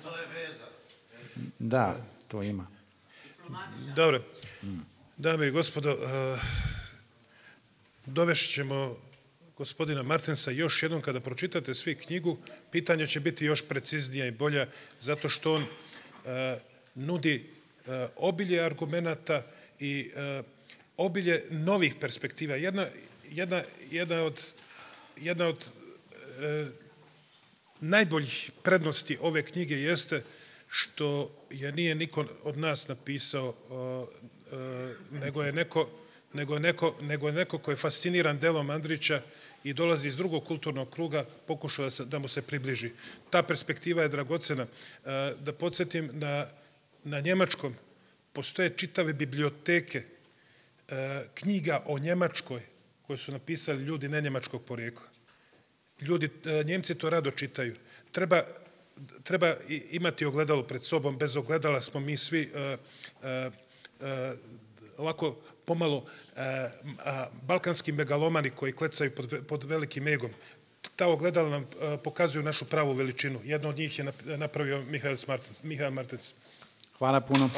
to je veza. Da, to ima. Dobro. Dame i gospodo, dovešći ćemo gospodina Martensa još jednom kada pročitate svi knjigu, pitanja će biti još preciznija i bolja, zato što on nudi obilje argumenata i obilje novih perspektiva. Jedna od najboljih prednosti ove knjige jeste što je nije niko od nas napisao, nego je neko ko je fasciniran delom Andrića i dolazi iz drugog kulturnog kruga, pokušao da mu se približi. Ta perspektiva je dragocena. Da podsjetim, na njemačkom postoje čitave biblioteke knjiga o Njemačkoj koje su napisali ljudi ne njemačkog porijekla. Njemci to rado čitaju. Treba imati ogledalo pred sobom. Bez ogledala smo mi svi ovako pomalo balkanski megalomani koji klecaju pod velikim egom. Ta ogledala nam pokazuju našu pravu veličinu. Jedno od njih je napravio Mihael Martens. Hvala puno.